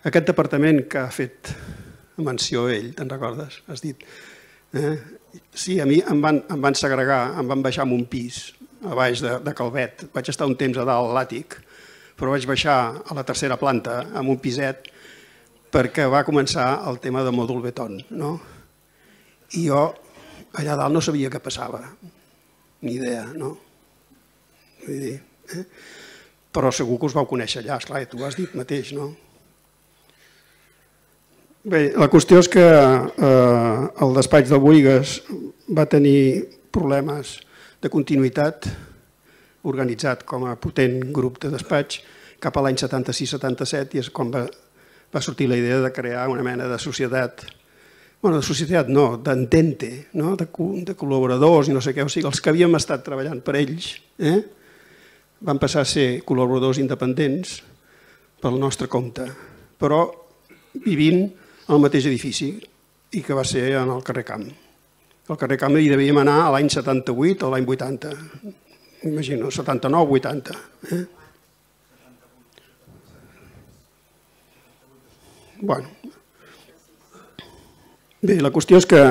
Aquest departament que ha fet menció ell, te'n recordes? Has dit. Sí, a mi em van segregar, em van baixar en un pis a baix de Calvet. Vaig estar un temps a dalt a l'àtic, però vaig baixar a la tercera planta amb un piset perquè va començar el tema de mòdul beton. I jo allà dalt no sabia què passava, ni idea, no? Vull dir, però segur que us vau conèixer allà, esclar, tu ho has dit mateix, no? Bé, la qüestió és que el despatx del Buigas va tenir problemes de continuïtat, organitzat com a potent grup de despatx, cap a l'any 76-77, i és quan va sortir la idea de crear una mena de societat, bueno, de societat no, d'entente, de col·laboradors i no sé què, o sigui, els que havíem estat treballant per ells van passar a ser col·laboradors independents pel nostre compte. però vivint al mateix edifici, i que va ser en el carrer Camp. Al carrer Camp hi devíem anar a l'any 78 o l'any 80, m'imagino, 79, 80. Bueno. Bé, la qüestió és que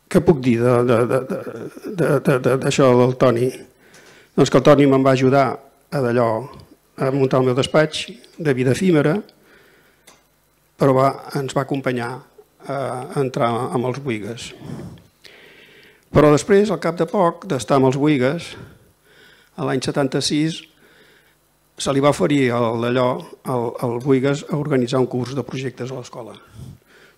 què puc dir d'això del Toni? Doncs que el Toni me'n va ajudar a muntar el meu despatx de vida efímera, però ens va acompanyar a entrar amb els Boïgues. Però després, al cap de poc d'estar amb els Boïgues, l'any 76, se li va oferir al Boïgues a organitzar un curs de projectes a l'escola,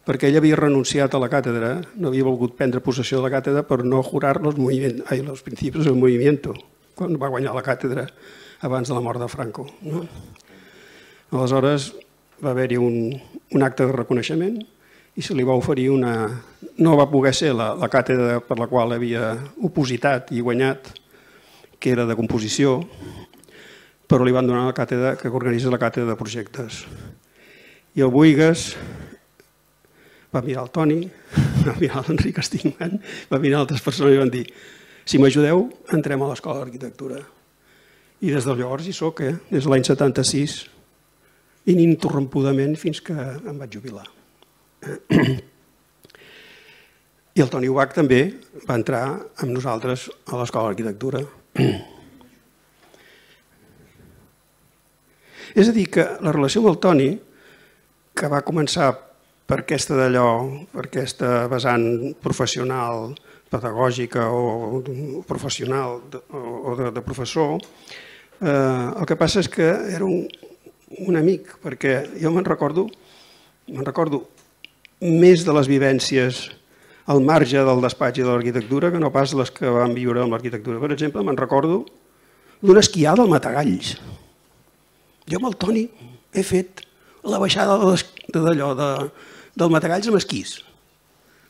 perquè ell havia renunciat a la càtedra, no havia volgut prendre possessió de la càtedra per no jurar los principis del movimiento, quan va guanyar la càtedra abans de la mort de Franco. Aleshores va haver-hi un acte de reconeixement i se li va oferir no va poder ser la càtedra per la qual havia opositat i guanyat, que era de composició, però li van donar la càtedra que organitza la càtedra de projectes. I el Boïgues va mirar el Toni, va mirar l'Enric Stigman, va mirar altres persones i van dir: si m'ajudeu, entrem a l'Escola d'Arquitectura. I des de llavors hi soc, des de l'any 76, ininterrompudament fins que em vaig jubilar. I el Toni Ubach també va entrar amb nosaltres a l'Escola d'Arquitectura. És a dir, que la relació amb el Toni, que va començar per aquesta vessant professional, pedagògica o professional o de professor, el que passa és que era un amic, perquè jo me'n recordo més de les vivències al marge del despatx i de l'arquitectura que no pas les que vam viure amb l'arquitectura. Per exemple, me'n recordo d'una esquiada al Matagalls. Jo amb el Toni he fet la baixada del Matagalls amb esquís,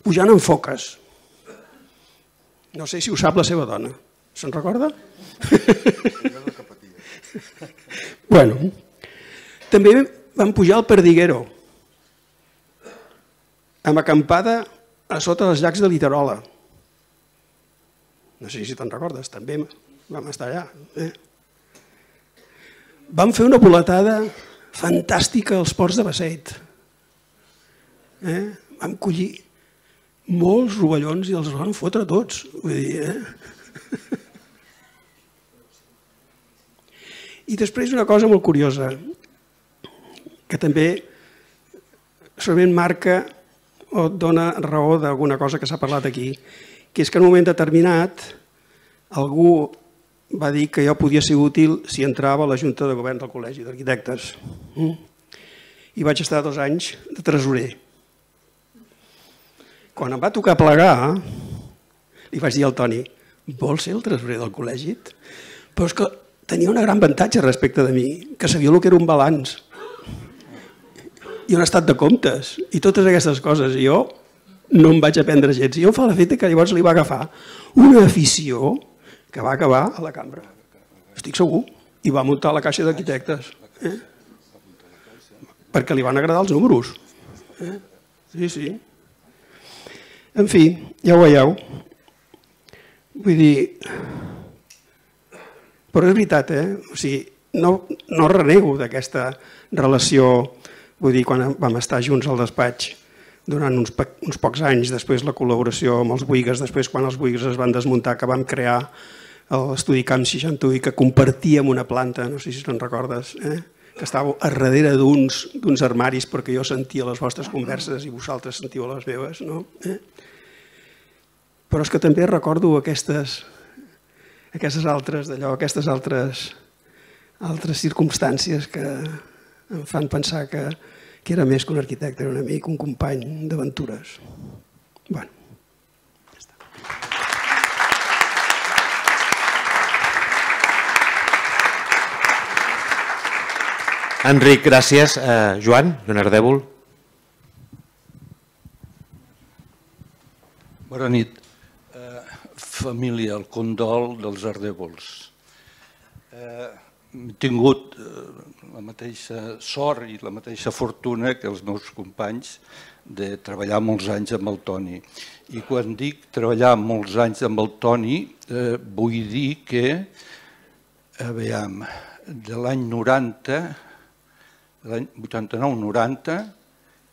pujant en foques. No sé si ho sap la seva dona. Se'n recorda? Bueno, també vam pujar al Perdiguero, amb acampada a sota dels llacs de Literola. No sé si te'n recordes, també vam estar allà. Vam fer una voletada fantàstica als ports de Basseit. Vam collir molts rovellons i els vam fotre tots. I després una cosa molt curiosa, que també segurament marca o dona raó d'alguna cosa que s'ha parlat aquí, que és que en un moment determinat algú va dir que jo podia ser útil si entrava a la Junta de Govern del Col·legi d'Arquitectes. I vaig estar 2 anys de tresorer. Quan em va tocar plegar, li vaig dir al Toni: vols ser el tresorer del col·legi? Però és que tenia un gran avantatge respecte de mi, que sabia el que era un balanç i un estat de comptes i totes aquestes coses. I jo no em vaig aprendre gens. I jo em fa l'efecte que llavors li va agafar una afició que va acabar a la cambra. Estic segur. I va muntar la caixa d'arquitectes. Perquè li van agradar els números. Sí, sí. En fi, ja ho veieu. Vull dir... Però és veritat, o sigui, no renego d'aquesta relació. Vull dir, quan vam estar junts al despatx durant uns pocs anys, després la col·laboració amb els Boïgues, després quan els Boïgues es van desmuntar, que vam crear l'estudi Camp 61 i que compartíem una planta, no sé si te'n recordes, que estàveu a darrere d'uns armaris perquè jo sentia les vostres converses i vosaltres sentíeu les meves, no? Però és que també recordo aquestes altres circumstàncies que em fan pensar que era més que un arquitecte, era un amic, un company d'aventures. Bueno, ja està. Enric, gràcies. Joan Ardèvol. Bona nit. Família, el condol dels Ardèvols. he tingut la mateixa sort i la mateixa fortuna que els meus companys de treballar molts anys amb el Toni. I quan dic treballar molts anys amb el Toni, vull dir que, de l'any 90, l'any 89-90,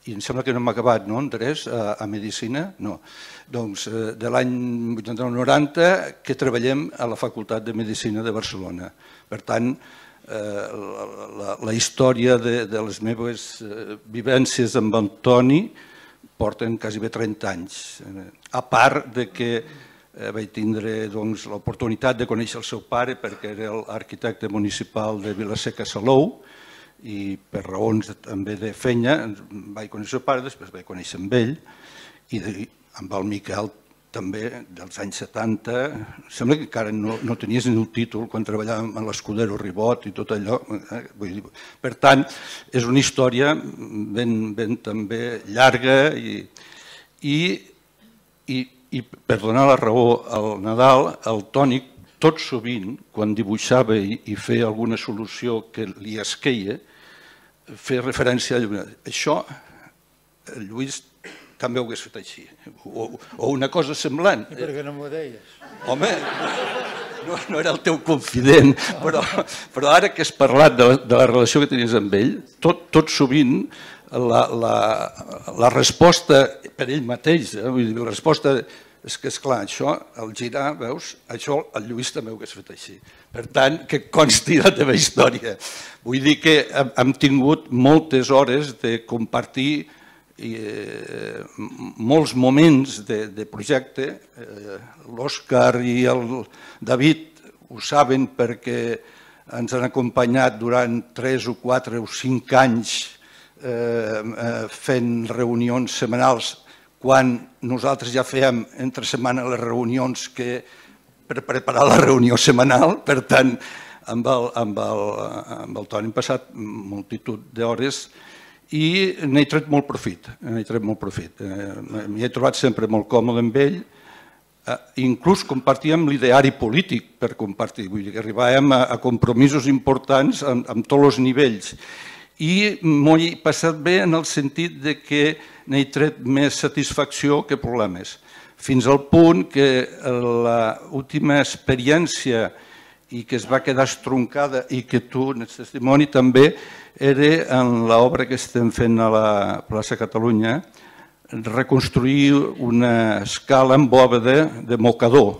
i em sembla que no hem acabat, no, Andrés, a Medicina? No. Doncs de l'any 89-90 que treballem a la Facultat de Medicina de Barcelona. Per tant, la història de les meves vivències amb el Toni porten quasi bé 30 anys. A part de que vaig tindre l'oportunitat de conèixer el seu pare perquè era l'arquitecte municipal de Vila-seca Salou i per raons també de feina vaig conèixer el seu pare, després vaig conèixer amb ell i amb el Miquel també dels anys 70. Sembla que encara no tenies ni el títol quan treballàvem a l'Escudero Ribot i tot allò. Per tant, és una història ben també llarga i per donar la raó al Nadal, el Toni tot sovint, quan dibuixava i feia alguna solució que li esqueia, feia referència a allò. Això, el Lluís també ho hagués fet així, o una cosa semblant. I per què no m'ho deies? Home, no era el teu confident, però ara que has parlat de la relació que tenies amb ell, tot sovint la resposta per ell mateix, la resposta és que, esclar, això, al girar, veus, això el Lluís també ho hagués fet així. Per tant, que consti la teva història. Vull dir que hem tingut moltes hores de compartir molts moments de projecte. L'Òscar i el David ho saben perquè ens han acompanyat durant 3 o 4 o 5 anys fent reunions setmanals quan nosaltres ja fèiem entre setmana les reunions per preparar la reunió setmanal. Per tant, amb el Toni hem passat multitud d'hores i n'he tret molt profit. M'hi he trobat sempre molt còmode amb ell. Inclús compartíem l'ideari polític per compartir. Vull dir que arribàvem a compromisos importants amb tots els nivells. I m'ho he passat bé en el sentit que n'he tret més satisfacció que problemes. Fins al punt que l'última experiència i que es va quedar estroncada i que tu n'ets testimoni també era en l'obra que estem fent a la plaça Catalunya, reconstruir una escala amb bòveda de mocador,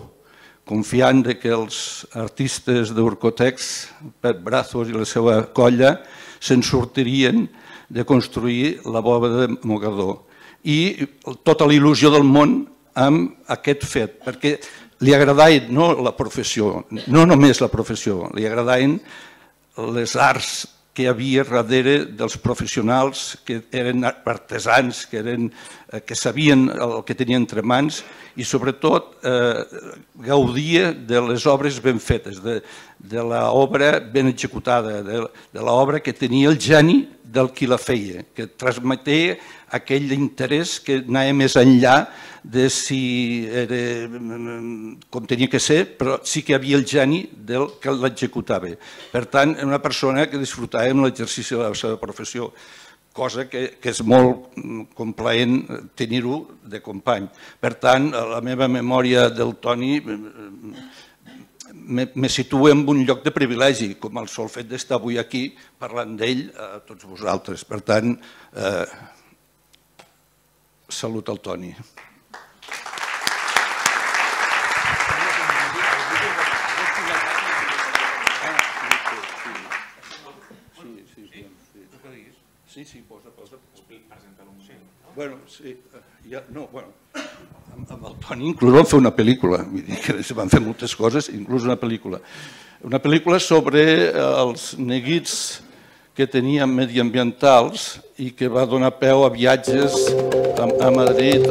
confiant que els artistes d'Urcotex, Pep Brazos i la seva colla, se'n sortirien de construir la bòveda de mocador. I tota la il·lusió del món amb aquest fet, perquè li agradaven no la professió, no només la professió, li agradaven les arts que hi havia darrere dels professionals que eren artesans, que sabien el que tenien entre mans i sobretot gaudia de les obres ben fetes, de l'obra ben executada, de l'obra que tenia el geni del qui la feia, que transmetia aquell interès que anava més enllà de si era com tenia que ser, però sí que hi havia el geni del que l'executava. Per tant, era una persona que disfrutava amb l'exercici de la seva professió, cosa que és molt complaent tenir-ho de company. Per tant, la meva memòria del Toni me situa en un lloc de privilegi, com el sol fet d'estar avui aquí parlant d'ell a tots vosaltres. Per tant, salut al Toni. Sí, posa. Presenta-lo un moment. Bueno, sí, amb el Toni inclús vam fer una pel·lícula, vull dir que van fer moltes coses, inclús una pel·lícula. Una pel·lícula sobre els neguits que teníem mediambientals i que va donar peu a viatges a Madrid.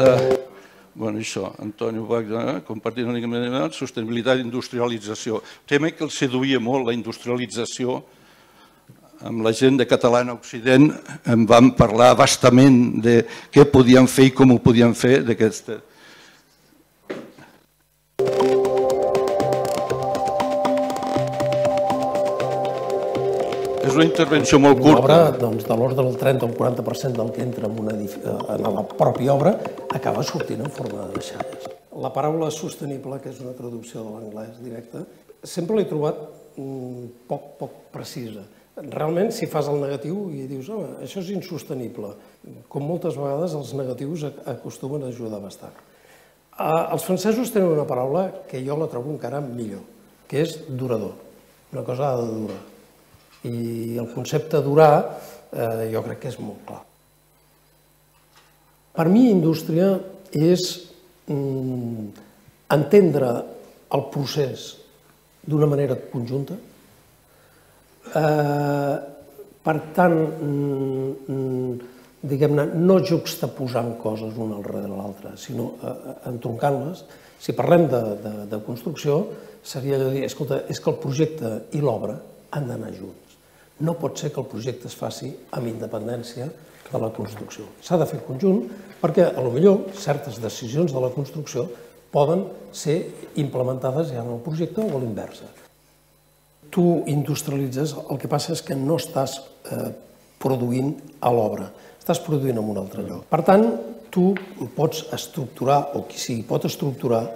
Bueno, això, Antonio Wagner, compartint una mica sostenibilitat i industrialització. Tema que el seduïa molt, la industrialització. Amb la gent de Catalana Occident em van parlar bastament de què podíem fer i com ho podíem fer d'aquesta. És una intervenció molt curta. L'obra, doncs, de l'ordre del 30 o el 40% del que entra en la pròpia obra acaba sortint en forma de deixalles. La paraula sostenible, que és una traducció de l'anglès directe, sempre l'he trobat poc precisa. Realment, si fas el negatiu i dius això és insostenible, com moltes vegades els negatius acostumen a ajudar bastant. Els francesos tenen una paraula que jo la trobo encara millor, que és durador. Una cosa ha de durar. I el concepte durar jo crec que és molt clar. Per mi, indústria és entendre el procés d'una manera conjunta. Per tant, diguem-ne, no juxtaposant coses una darrere l'altra, sinó entroncant-les. Si parlem de construcció, seria allò de dir, escolta, és que el projecte i l'obra han d'anar junts. No pot ser que el projecte es faci amb independència de la construcció. S'ha de fer conjunt perquè, potser, certes decisions de la construcció poden ser implementades ja en el projecte o a l'inversa. Tu industrialitzes, el que passa és que no estàs produint a l'obra, estàs produint en un altre lloc. Per tant, tu pots estructurar, o qui sigui pot estructurar,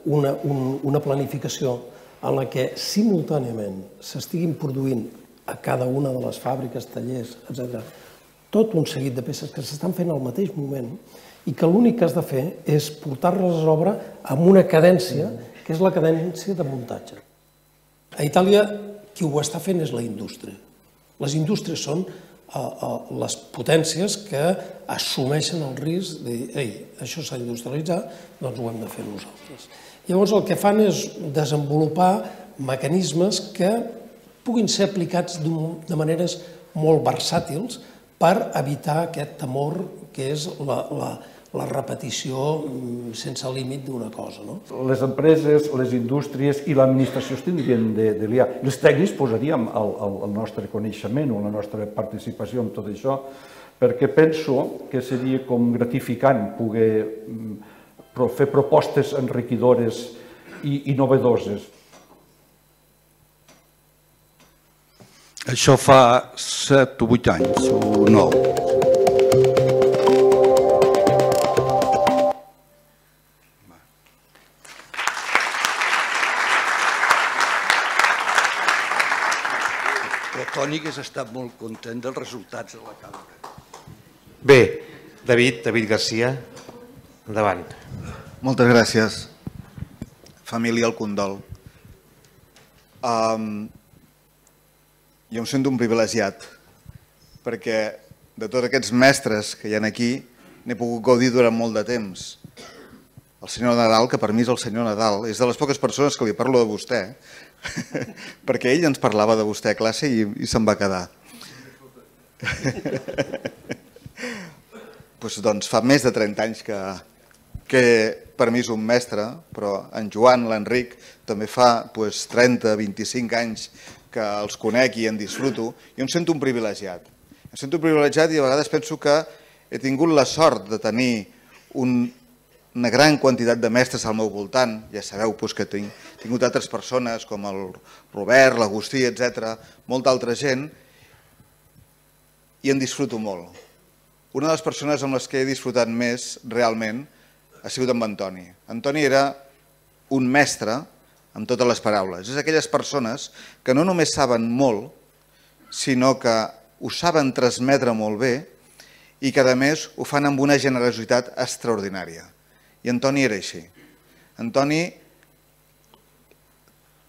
una planificació en la que simultàniament s'estiguin produint a cada una de les fàbriques, tallers, etc., tot un seguit de peces que s'estan fent al mateix moment i que l'únic que has de fer és portar-les a l'obra amb una cadència, que és la cadència de muntatge. A Itàlia, qui ho està fent és la indústria. Les indústries són les potències que assumeixen el risc de dir, ei, això s'ha d'industrialitzar, doncs ho hem de fer nosaltres. Llavors el que fan és desenvolupar mecanismes que puguin ser aplicats de maneres molt versàtils per evitar aquest temor que és la repetició sense límit d'una cosa. Les empreses, les indústries i l'administració es tindrien de liar. Els tècnics posaríem el nostre coneixement o la nostra participació en tot això, perquè penso que seria com gratificant poder fer propostes enriquidores i innovadores. Això fa 7 o 8 anys, o 9. El Toni hagués estat molt content dels resultats de la càmera. Bé, David Garcia, endavant. Moltes gràcies. Família, el condol. Jo em sento un privilegiat, perquè de tots aquests mestres que hi ha aquí n'he pogut gaudir durant molt de temps. El senyor Nadal, que per mi és el senyor Nadal, és de les poques persones que li parlo de vostè, perquè ell ens parlava de vostè a classe i se'n va quedar. Doncs fa més de 30 anys que per mi és un mestre, però en Joan, l'Enric, també fa 30, 25 anys que els conec i en disfruto, i em sento un privilegiat. Em sento un privilegiat i a vegades penso que he tingut la sort de tenir una gran quantitat de mestres al meu voltant. Ja sabeu que he tingut altres persones com el Robert, l'Agustí, etc., molta altra gent, i en disfruto molt. Una de les persones amb les que he disfrutat més realment ha sigut amb Antoni. Antoni era un mestre amb totes les paraules. És aquelles persones que no només saben molt, sinó que ho saben transmetre molt bé i que, a més, ho fan amb una generositat extraordinària. I Antoni era així. Antoni,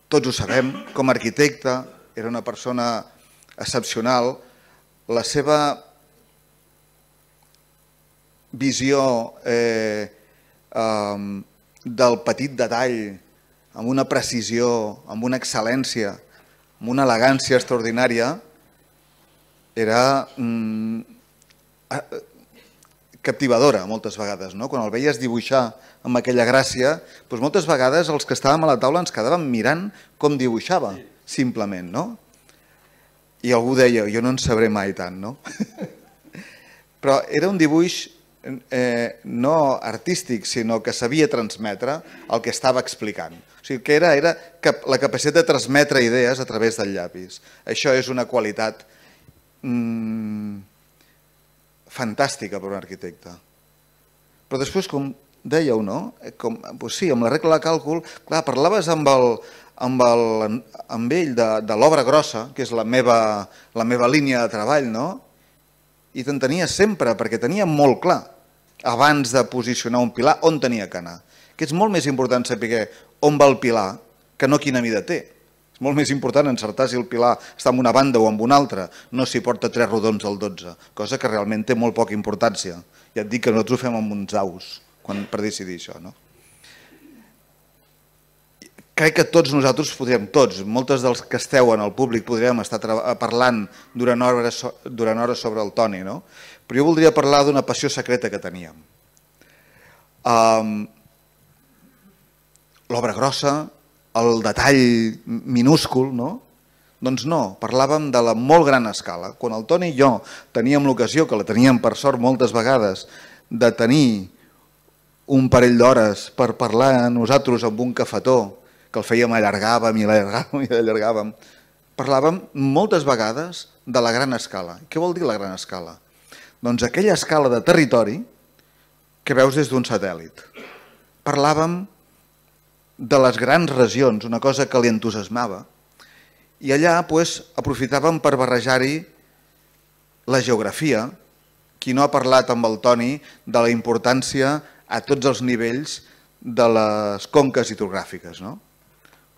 tots ho sabem, com a arquitecte, era una persona excepcional. La seva visió del petit detall, amb una precisió, amb una excel·lència, amb una elegància extraordinària, era captivadora moltes vegades. Quan el veies dibuixar amb aquella gràcia, moltes vegades els que estàvem a la taula ens quedàvem mirant com dibuixava, simplement. I algú deia, jo no en sabré mai tant. Però era un dibuix no artístic, sinó que sabia transmetre el que estava explicant. O sigui, que era la capacitat de transmetre idees a través del llapis. Això és una qualitat fantàstica per un arquitecte. Però després, com dèieu, no? Sí, amb la regla de càlcul, clar, parlaves amb ell de l'obra grossa, que és la meva línia de treball, no? I t'entenia sempre, perquè tenia molt clar, abans de posicionar un pilar, on tenia que anar. Que és molt més important saber on va el pilar que no quina mida té. És molt més important encertar si el pilar està en una banda o en una altra, no si porta 3 rodons al 12, cosa que realment té molt poca importància. Ja et dic que nosaltres ho fem amb uns daus per decidir això, no? Crec que tots nosaltres podríem, moltes dels que esteu en el públic podríem estar parlant durant hores sobre el Toni, no? Però jo voldria parlar d'una passió secreta que teníem. L'obra grossa, el detall minúscul, no? Doncs no, parlàvem de la molt gran escala. Quan el Toni i jo teníem l'ocasió, que la teníem per sort moltes vegades, de tenir un parell d'hores per parlar nosaltres amb un cafetó, que el fèiem, allargàvem i allargàvem. Parlàvem moltes vegades de la gran escala. Què vol dir la gran escala? Doncs aquella escala de territori que veus des d'un satèl·lit. Parlàvem de les grans regions, una cosa que li entusiasmava, i allà aprofitàvem per barrejar-hi la geografia. Qui no ha parlat amb el Toni de la importància a tots els nivells de les conques hidrogràfiques, no?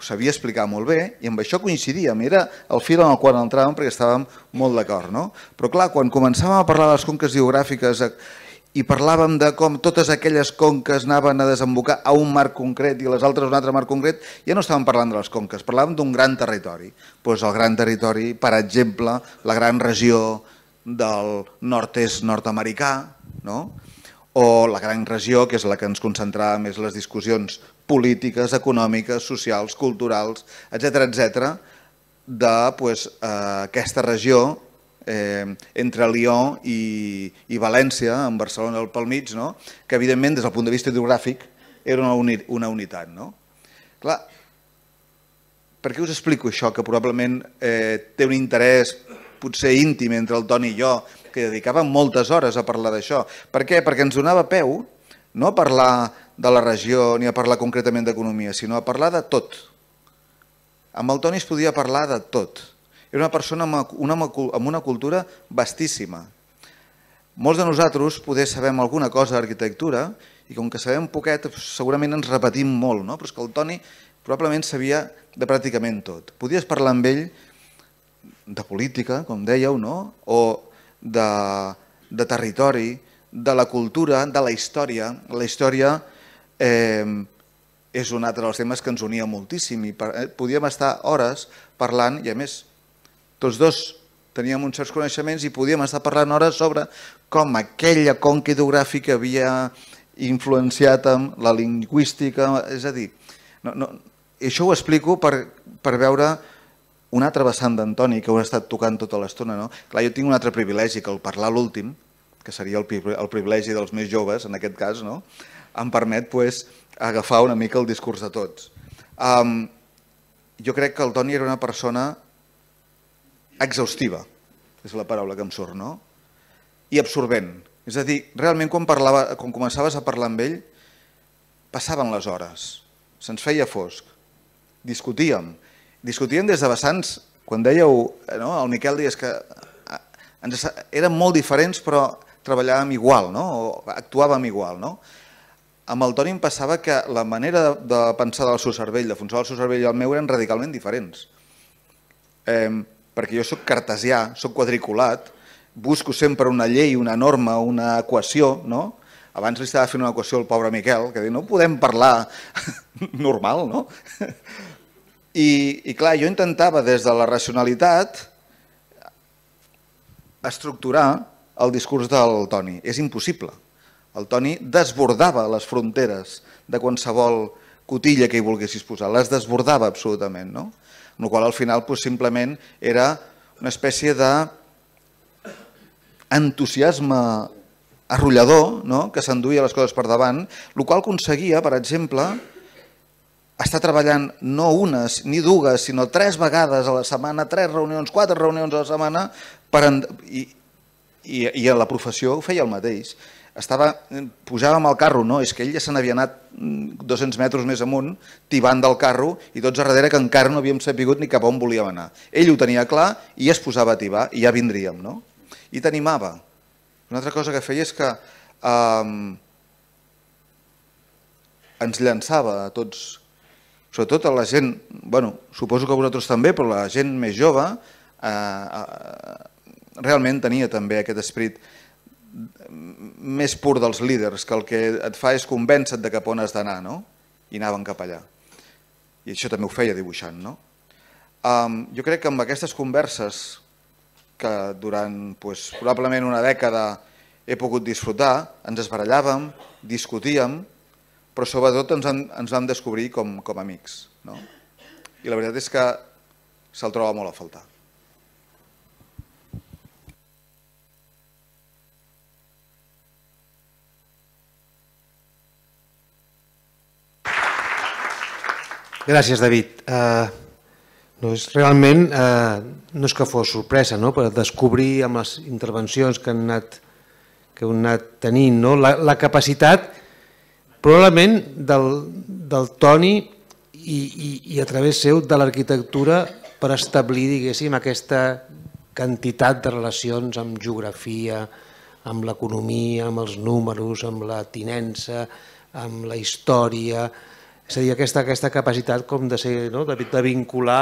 Ho sabia explicar molt bé i amb això coincidíem, era el fil en el qual entràvem perquè estàvem molt d'acord, no? Però clar, quan començàvem a parlar de les conques hidrogràfiques i parlàvem de com totes aquelles conques anaven a desembocar a un mar concret i les altres a un altre mar concret, ja no estàvem parlant de les conques, parlàvem d'un gran territori. Doncs el gran territori, per exemple, la gran regió del nord-est nord-americà, no? O la gran regió, que és la que ens concentrava més les discussions polítiques, econòmiques, socials, culturals, etc., d'aquesta regió entre Lió i València, en Barcelona pel mig, que evidentment des del punt de vista hidrogràfic era una unitat. Clar, per què us explico això? Que probablement té un interès potser íntim entre el Toni i jo, que dedicàvem moltes hores a parlar d'això. Per què? Perquè ens donava peu no a parlar de la regió ni a parlar concretament d'economia, sinó a parlar de tot. Amb el Toni es podia parlar de tot. Era una persona amb una cultura vastíssima. Molts de nosaltres poder sabem alguna cosa d'arquitectura i com que sabem poquet segurament ens repetim molt, però és que el Toni probablement sabia de pràcticament tot. Podies parlar amb ell de política, com dèieu, o de territori, de la cultura, de la història. La història és un altre dels temes que ens unia moltíssim i podíem estar hores parlant i a més tots dos teníem uns certs coneixements i podíem estar parlant hores sobre com aquella conca hidrogràfica havia influenciat amb la lingüística, és a dir, això ho explico per veure una altra vessant d'Antoni que ho he estat tocant tota l'estona. Clar, jo tinc un altre privilegi, que el parlar l'últim, que seria el privilegi dels més joves, en aquest cas, em permet agafar una mica el discurs de tots. Jo crec que el Toni era una persona exhaustiva, és la paraula que em surt, i absorbent. És a dir, realment quan començaves a parlar amb ell, passaven les hores, se'ns feia fosc, discutíem des de vessants, quan dèieu, el Miquel deies que érem molt diferents però treballàvem igual, o actuàvem igual. Amb el Toni em passava que la manera de pensar del seu cervell, de funcionar el seu cervell i el meu eren radicalment diferents. Perquè jo soc cartesià, soc quadriculat, busco sempre una llei, una norma, una equació. Abans li estava fent una equació al pobre Miquel, que diu, no podem parlar normal, no? I clar, jo intentava des de la racionalitat estructurar el discurs del Toni. És impossible. El Toni desbordava les fronteres de qualsevol cotilla que hi volguessis posar, les desbordava absolutament, amb la qual al final simplement era una espècie d'entusiasme arrollador, que s'enduia les coses per davant, el qual aconseguia, per exemple, estar treballant no unes ni dues, sinó 3 vegades a la setmana, 3 reunions, 4 reunions a la setmana, i a la professió ho feia el mateix. Pujàvem al carro, és que ell ja se n'havia anat 200 metres més amunt, tibant del carro, i tots a darrere que encara no havíem sapigut ni cap on volíem anar. Ell ho tenia clar i es posava a tibar i ja vindríem, I t'animava. Una altra cosa que feia és que ens llançava a tots, sobretot a la gent, suposo que vosaltres també, però la gent més jove realment tenia també aquest esperit més pur dels líders, que el que et fa és convèncer de cap on has d'anar, i anaven cap allà. I això també ho feia dibuixant. Jo crec que amb aquestes converses, que durant probablement una dècada he pogut disfrutar, ens esbarallàvem, discutíem, però sobretot ens vam descobrir com amics. I la veritat és que se'l troba molt a faltar. Gràcies, David. Realment no és que fos sorpresa, per descobrir amb les intervencions que heu anat tenint la capacitat probablement del Toni i a través seu de l'arquitectura per establir, diguéssim, aquesta quantitat de relacions amb geografia, amb l'economia, amb els números, amb la tinença, amb la història. És a dir, aquesta capacitat de vincular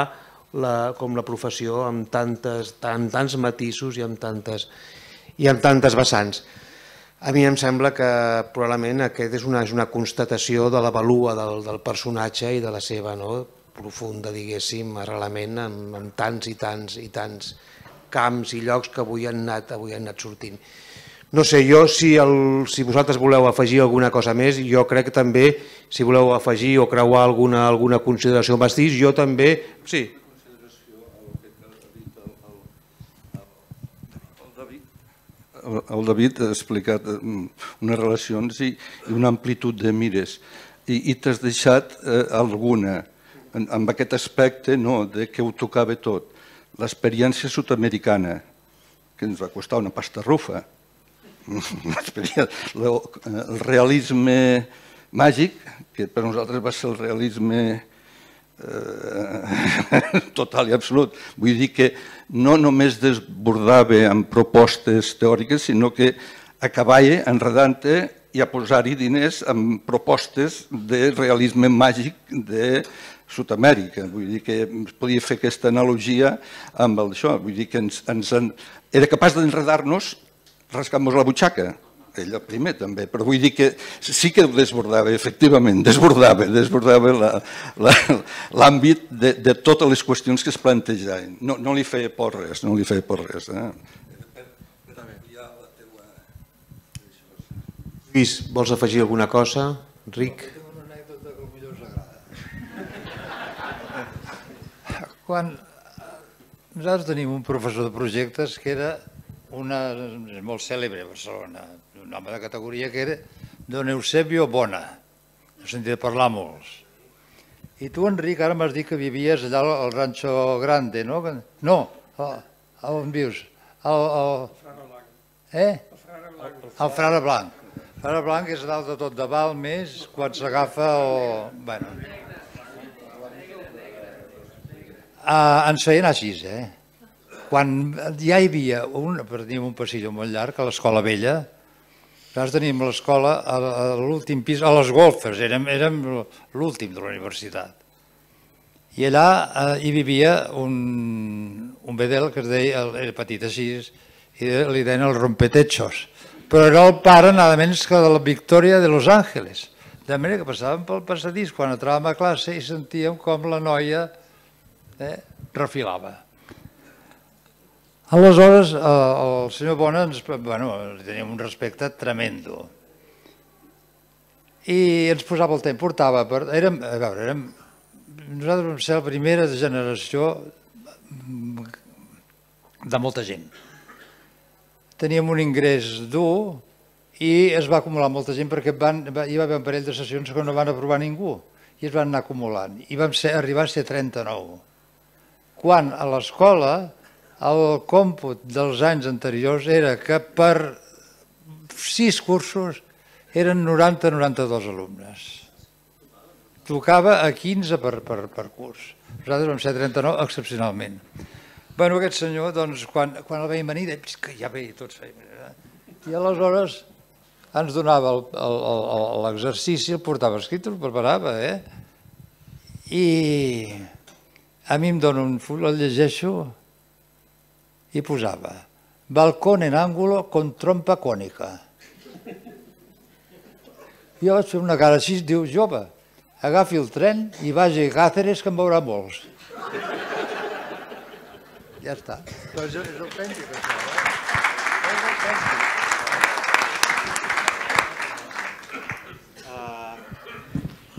la professió amb tants matisos i amb tantes vessants. A mi em sembla que probablement aquest és una constatació de la valua del personatge i de la seva profunda, diguéssim, arrelament en tants i tants camps i llocs que avui han anat sortint. No sé, jo, si vosaltres voleu afegir alguna cosa més, jo crec que també, si voleu afegir o creuar alguna consideració amb Bastís, jo també... Sí. El David ha explicat unes relacions i una amplitud de mires i t'has deixat alguna, amb aquest aspecte que ho tocava tot. L'experiència sud-americana, que ens va costar una pasta rufa, el realisme màgic, que per nosaltres va ser el realisme total i absolut. Vull dir que no només desbordava amb propostes teòriques, sinó que acabava enredant-te i a posar-hi diners amb propostes de realisme màgic de Sud-amèrica. Vull dir que es podia fer aquesta analogia amb això. Vull dir que era capaç d'enredar-nos rascant-nos la butxaca. Ell el primer també, però vull dir que sí que ho desbordava, efectivament, desbordava l'àmbit de totes les qüestions que es plantejaven. No li feia por res, no li feia por res. Lluís, vols afegir alguna cosa? Enric? Tinc una anècdota que potser us agrada. Quan nosaltres tenim un professor de projectes que era molt cèlebre a Barcelona, un home de categoria que era don Eusebio Bona, he sentit parlar molts. I tu, Enric, ara m'has dit que vivies allà al Rancho Grande, no? No, on vius? El Frare Blanc. El Frare Blanc és dalt de tot de Balmes, quan s'agafa o... Ens feien així, Quan ja hi havia teníem un passillo molt llarg a l'Escola Vella, nosaltres teníem l'escola a l'últim pis, a les golfes, érem l'últim de la universitat. I allà hi vivia un bedel que es deia, era petit així, i li deien el rompetechos, però era el pare nada menys que de la Victòria de Los Ángeles. De manera que passàvem pel passadís quan entràvem a classe i sentíem com la noia refilava. Aleshores, el senyor Bona li teníem un respecte tremendo. I ens posava el temps, portava... Nosaltres vam ser la primera generació de molta gent. Teníem un ingrés dur i es va acumular molta gent perquè hi va haver un parell de sessions que no van aprovar ningú i es van anar acumulant i vam arribar a ser 39. Quan a l'escola el còmput dels anys anteriors era que per 6 cursos eren 90-92 alumnes. Tocava a 15 per curs. Nosaltres vam ser 39 excepcionalment. Bueno, aquest senyor, doncs, quan el veiem venir, deia que ja ve, tots feim. I aleshores ens donava l'exercici, el portava escrit, el preparava, I a mi em dona un full, el llegeixo i posava balcón en ángulo con trompa cònica. Jo vaig fer una cara així, diu, jove, agafi el tren i vagi a Càceres, que en veurà molts. Ja està. Però és autèntic, això. És autèntic.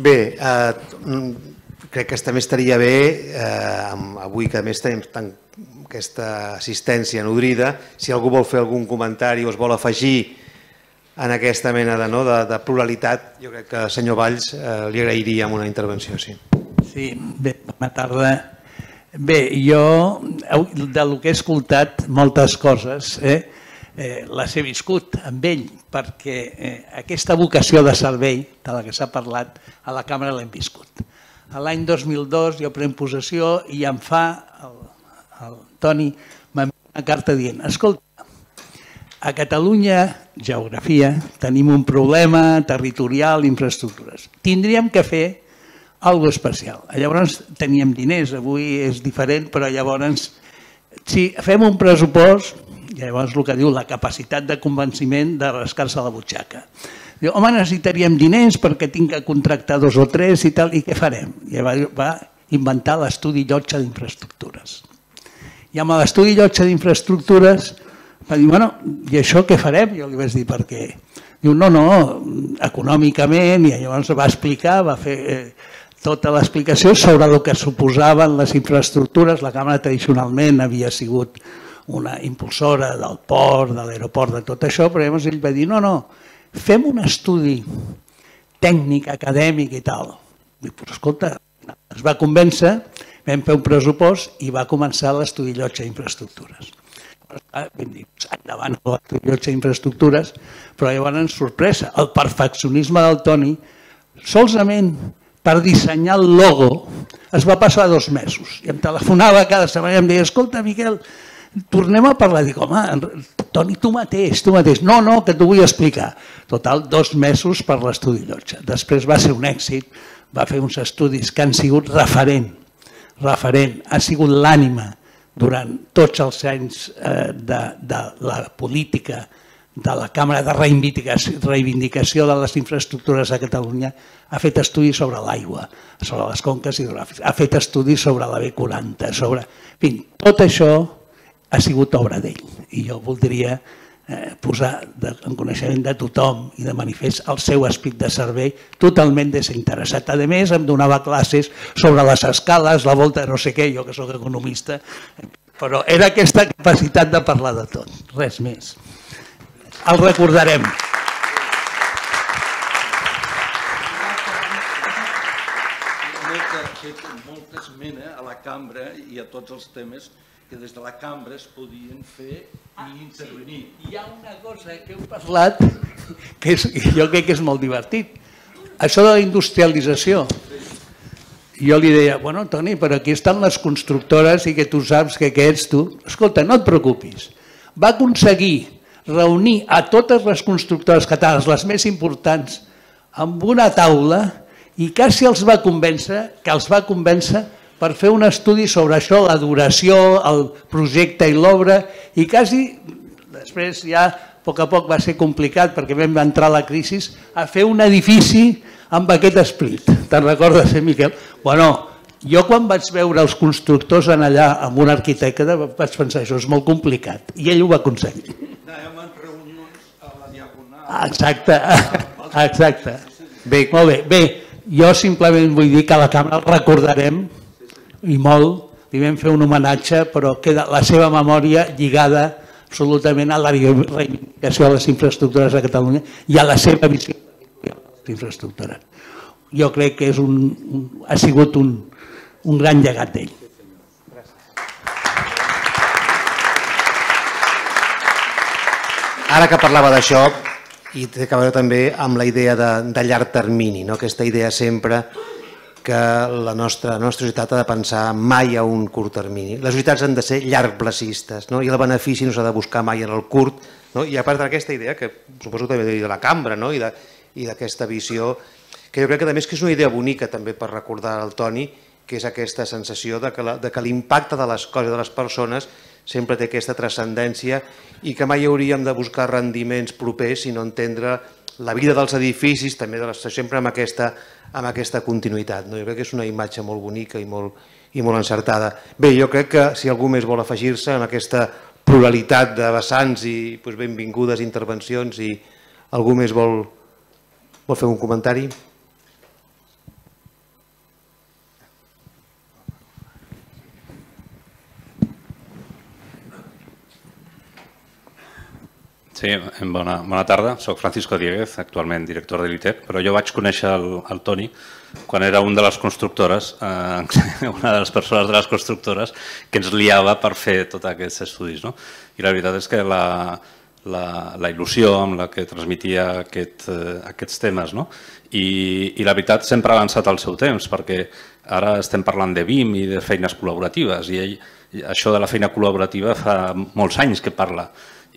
Bé, crec que també estaria bé, avui que a més tenim aquesta assistència nodrida, si algú vol fer algun comentari o es vol afegir en aquesta mena de pluralitat, jo crec que al senyor Valls li agrairíem una intervenció, sí. Sí, bé, bona tarda. Bé, jo del que he escoltat moltes coses les he viscut amb ell, perquè aquesta vocació de servei de la que s'ha parlat a la càmera l'hem viscut. L'any 2002 jo prenc possessió i em fa el Toni m'envia una carta dient, escolta, a Catalunya, geografia, tenim un problema territorial, infraestructures. Tindríem que fer alguna especial. Llavors teníem diners, avui és diferent, però llavors si fem un pressupost, llavors el que diu la capacitat de convenciment de rascar-se la butxaca. Diu, home, necessitaríem diners perquè tinc que contractar 2 o 3 i tal, i què farem? I va inventar l'estudi llotja d'infraestructures. I amb l'estudi llotja d'infraestructures va dir, bueno, i això què farem? Jo li vaig dir, per què? Diu, no, econòmicament, i llavors va explicar, va fer tota l'explicació sobre el que suposaven les infraestructures. La Càmera tradicionalment havia sigut una impulsora del port, de l'aeroport, de tot això, però llavors ell va dir, no, fem un estudi tècnic, acadèmic i tal. Diu, però escolta, es va convèncer, vam fer un pressupost i va començar l'estudi llotja d'infraestructures. Vam dir, endavant l'estudi llotja d'infraestructures, però llavors, sorpresa, el perfeccionisme del Toni, solament per dissenyar el logo, es va passar 2 mesos. I em telefonava cada setmana i em deia, escolta, Miquel, tornem a parlar. Dic, home, Toni, tu mateix. No, que t'ho vull explicar. Total, 2 mesos per l'estudi llotja. Després va ser un èxit, va fer uns estudis que han sigut referent. Ha sigut l'ànima durant tots els anys de la política de la Càmera de Reivindicació de les Infraestructures a Catalunya. Ha fet estudis sobre l'aigua, sobre les conques hidrogràfiques, ha fet estudis sobre la B40, sobre... En fi, tot això ha sigut obra d'ell i jo voldria posar en coneixement de tothom i de manifest el seu esperit de servei totalment desinteressat. A més, em donava classes sobre les escales, la volta de no sé què, jo que soc economista, però era aquesta capacitat de parlar de tot, res més. El recordarem. Ha fet molta esmena a la cambra i a tots els temes que des de la cambra es podien fer i intervenir. Hi ha una cosa que heu parlat que jo crec que és molt divertit. Això de la industrialització. Jo li deia, bueno, Toni, però aquí estan les constructores i que tu saps que ets tu. Escolta, no et preocupis. Va aconseguir reunir a totes les constructores catalanes, les més importants, amb una taula i quasi els va convèncer per fer un estudi sobre això, la duració, el projecte i l'obra, i quasi, després ja a poc va ser complicat perquè vam entrar a la crisi, a fer un edifici amb aquest esperit. Te'n recordes, Miquel? Bueno, jo quan vaig veure els constructors allà amb un arquitecte vaig pensar, això és molt complicat, i ell ho va aconseguir. Anàvem en reunions a la Diagonal. Exacte. Molt bé, jo simplement vull dir que a la càmera el recordarem i molt, li vam fer un homenatge, però queda la seva memòria lligada absolutament a la reivindicació de les infraestructures de Catalunya i a la seva visió de les infraestructures. Jo crec que ha sigut un gran llegat d'ell. Ara que parlava d'això, i té a veure també amb la idea de llarg termini, aquesta idea sempre que la nostra societat ha de pensar mai a un curt termini. Les societats han de ser llargplacistes i el benefici no s'ha de buscar mai en el curt. I a part d'aquesta idea, que suposo també de la cambra i d'aquesta visió, que jo crec que també és una idea bonica també per recordar al Toni, que és aquesta sensació de que l'impacte de les coses, de les persones, sempre té aquesta transcendència i que mai hauríem de buscar rendiments propers, sinó entendre la vida dels edificis, també sempre amb aquesta continuïtat. Jo crec que és una imatge molt bonica i molt encertada. Bé, jo crec que si algú més vol afegir-se en aquesta pluralitat de vessants i benvingudes intervencions, i algú més vol fer un comentari? Sí, bona tarda. Soc Francisco Dieguez, actualment director de l'ITEC, però jo vaig conèixer el Toni quan era una de les constructores, una de les persones de les constructores que ens liava per fer tots aquests estudis. I la veritat és que la il·lusió amb la que transmetia aquests temes i la veritat sempre ha avançat al seu temps, perquè ara estem parlant de BIM i de feines col·laboratives i això de la feina col·laborativa fa molts anys que parla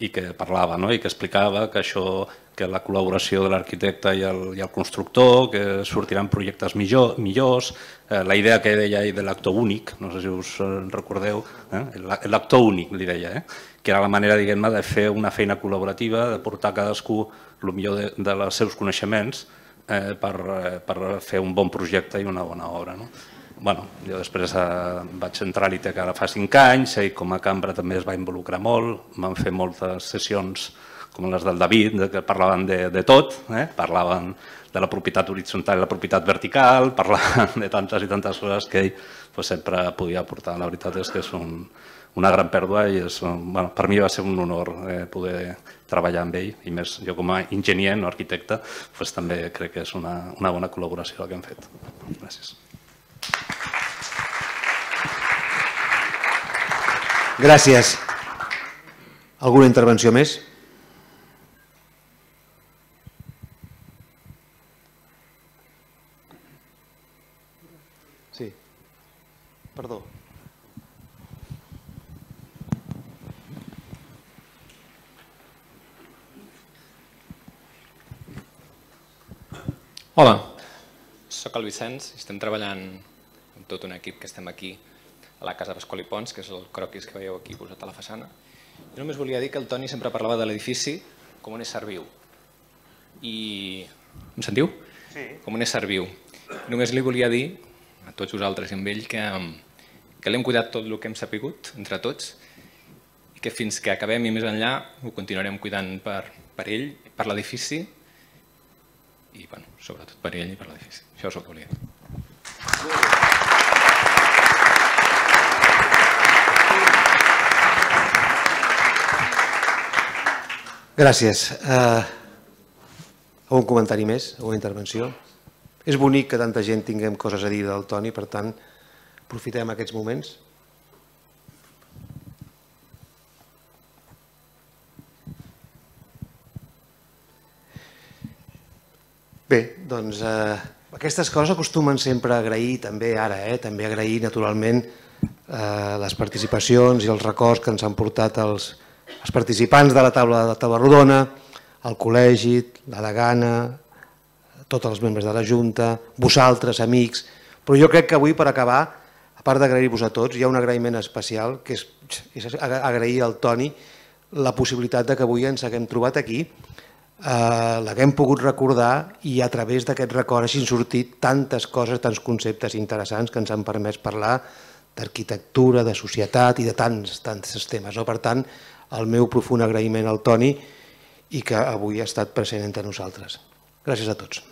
i que parlava i que explicava que la col·laboració de l'arquitecte i el constructor, que sortiran projectes millors, la idea que deia de l'actor únic, no sé si us recordeu, l'actor únic li deia, que era la manera de fer una feina col·laborativa, de portar cadascú el millor dels seus coneixements per fer un bon projecte i una bona obra. Jo després vaig entrar a l'ITEC ara fa 5 anys i com a cambra també es va involucrar molt, vam fer moltes sessions com les del David, que parlaven de tot, parlaven de la propietat horitzontal i la propietat vertical, parlaven de tantes i tantes coses que ell sempre podia aportar. La veritat és que és una gran pèrdua i per mi va ser un honor poder treballar amb ell i més jo com a enginyer, no arquitecte, també crec que és una bona col·laboració la que hem fet. Gràcies. Gràcies. Alguna intervenció més? Sí. Perdó. Hola, soc el Vicenç i estem treballant amb tot un equip que estem aquí a la Casa Pasqual i Pons, que és el croquis que veieu aquí posat a la façana. Jo només volia dir que el Toni sempre parlava de l'edifici com un ésser viu. Em sentiu? Sí. Com un ésser viu. Només li volia dir a tots vosaltres i amb ell que l'hem cuidat tot el que hem sapigut entre tots i que fins que acabem i més enllà ho continuarem cuidant per ell, per l'edifici i sobretot per ell i per l'edifici. Això és el que volia dir. Gràcies. Algun comentari més? Alguna intervenció? És bonic que tanta gent tinguem coses a dir del Toni, per tant, aprofitem aquests moments. Bé, doncs aquestes coses acostumen sempre a agrair, també ara, també agrair naturalment les participacions i els records que ens han portat els participants de la taula rodona, el col·legi, la degana, tots els membres de la Junta, vosaltres, amics, però jo crec que avui per acabar, a part d'agrair-vos a tots, hi ha un agraïment especial, que és agrair al Toni la possibilitat que avui ens haguem trobat aquí, l'haguem pogut recordar i a través d'aquest record hagin sortit tantes coses, tants conceptes interessants que ens han permès parlar d'arquitectura, de societat i de tants temes. Per tant, el meu profund agraïment al Toni i que avui ha estat present entre nosaltres. Gràcies a tots.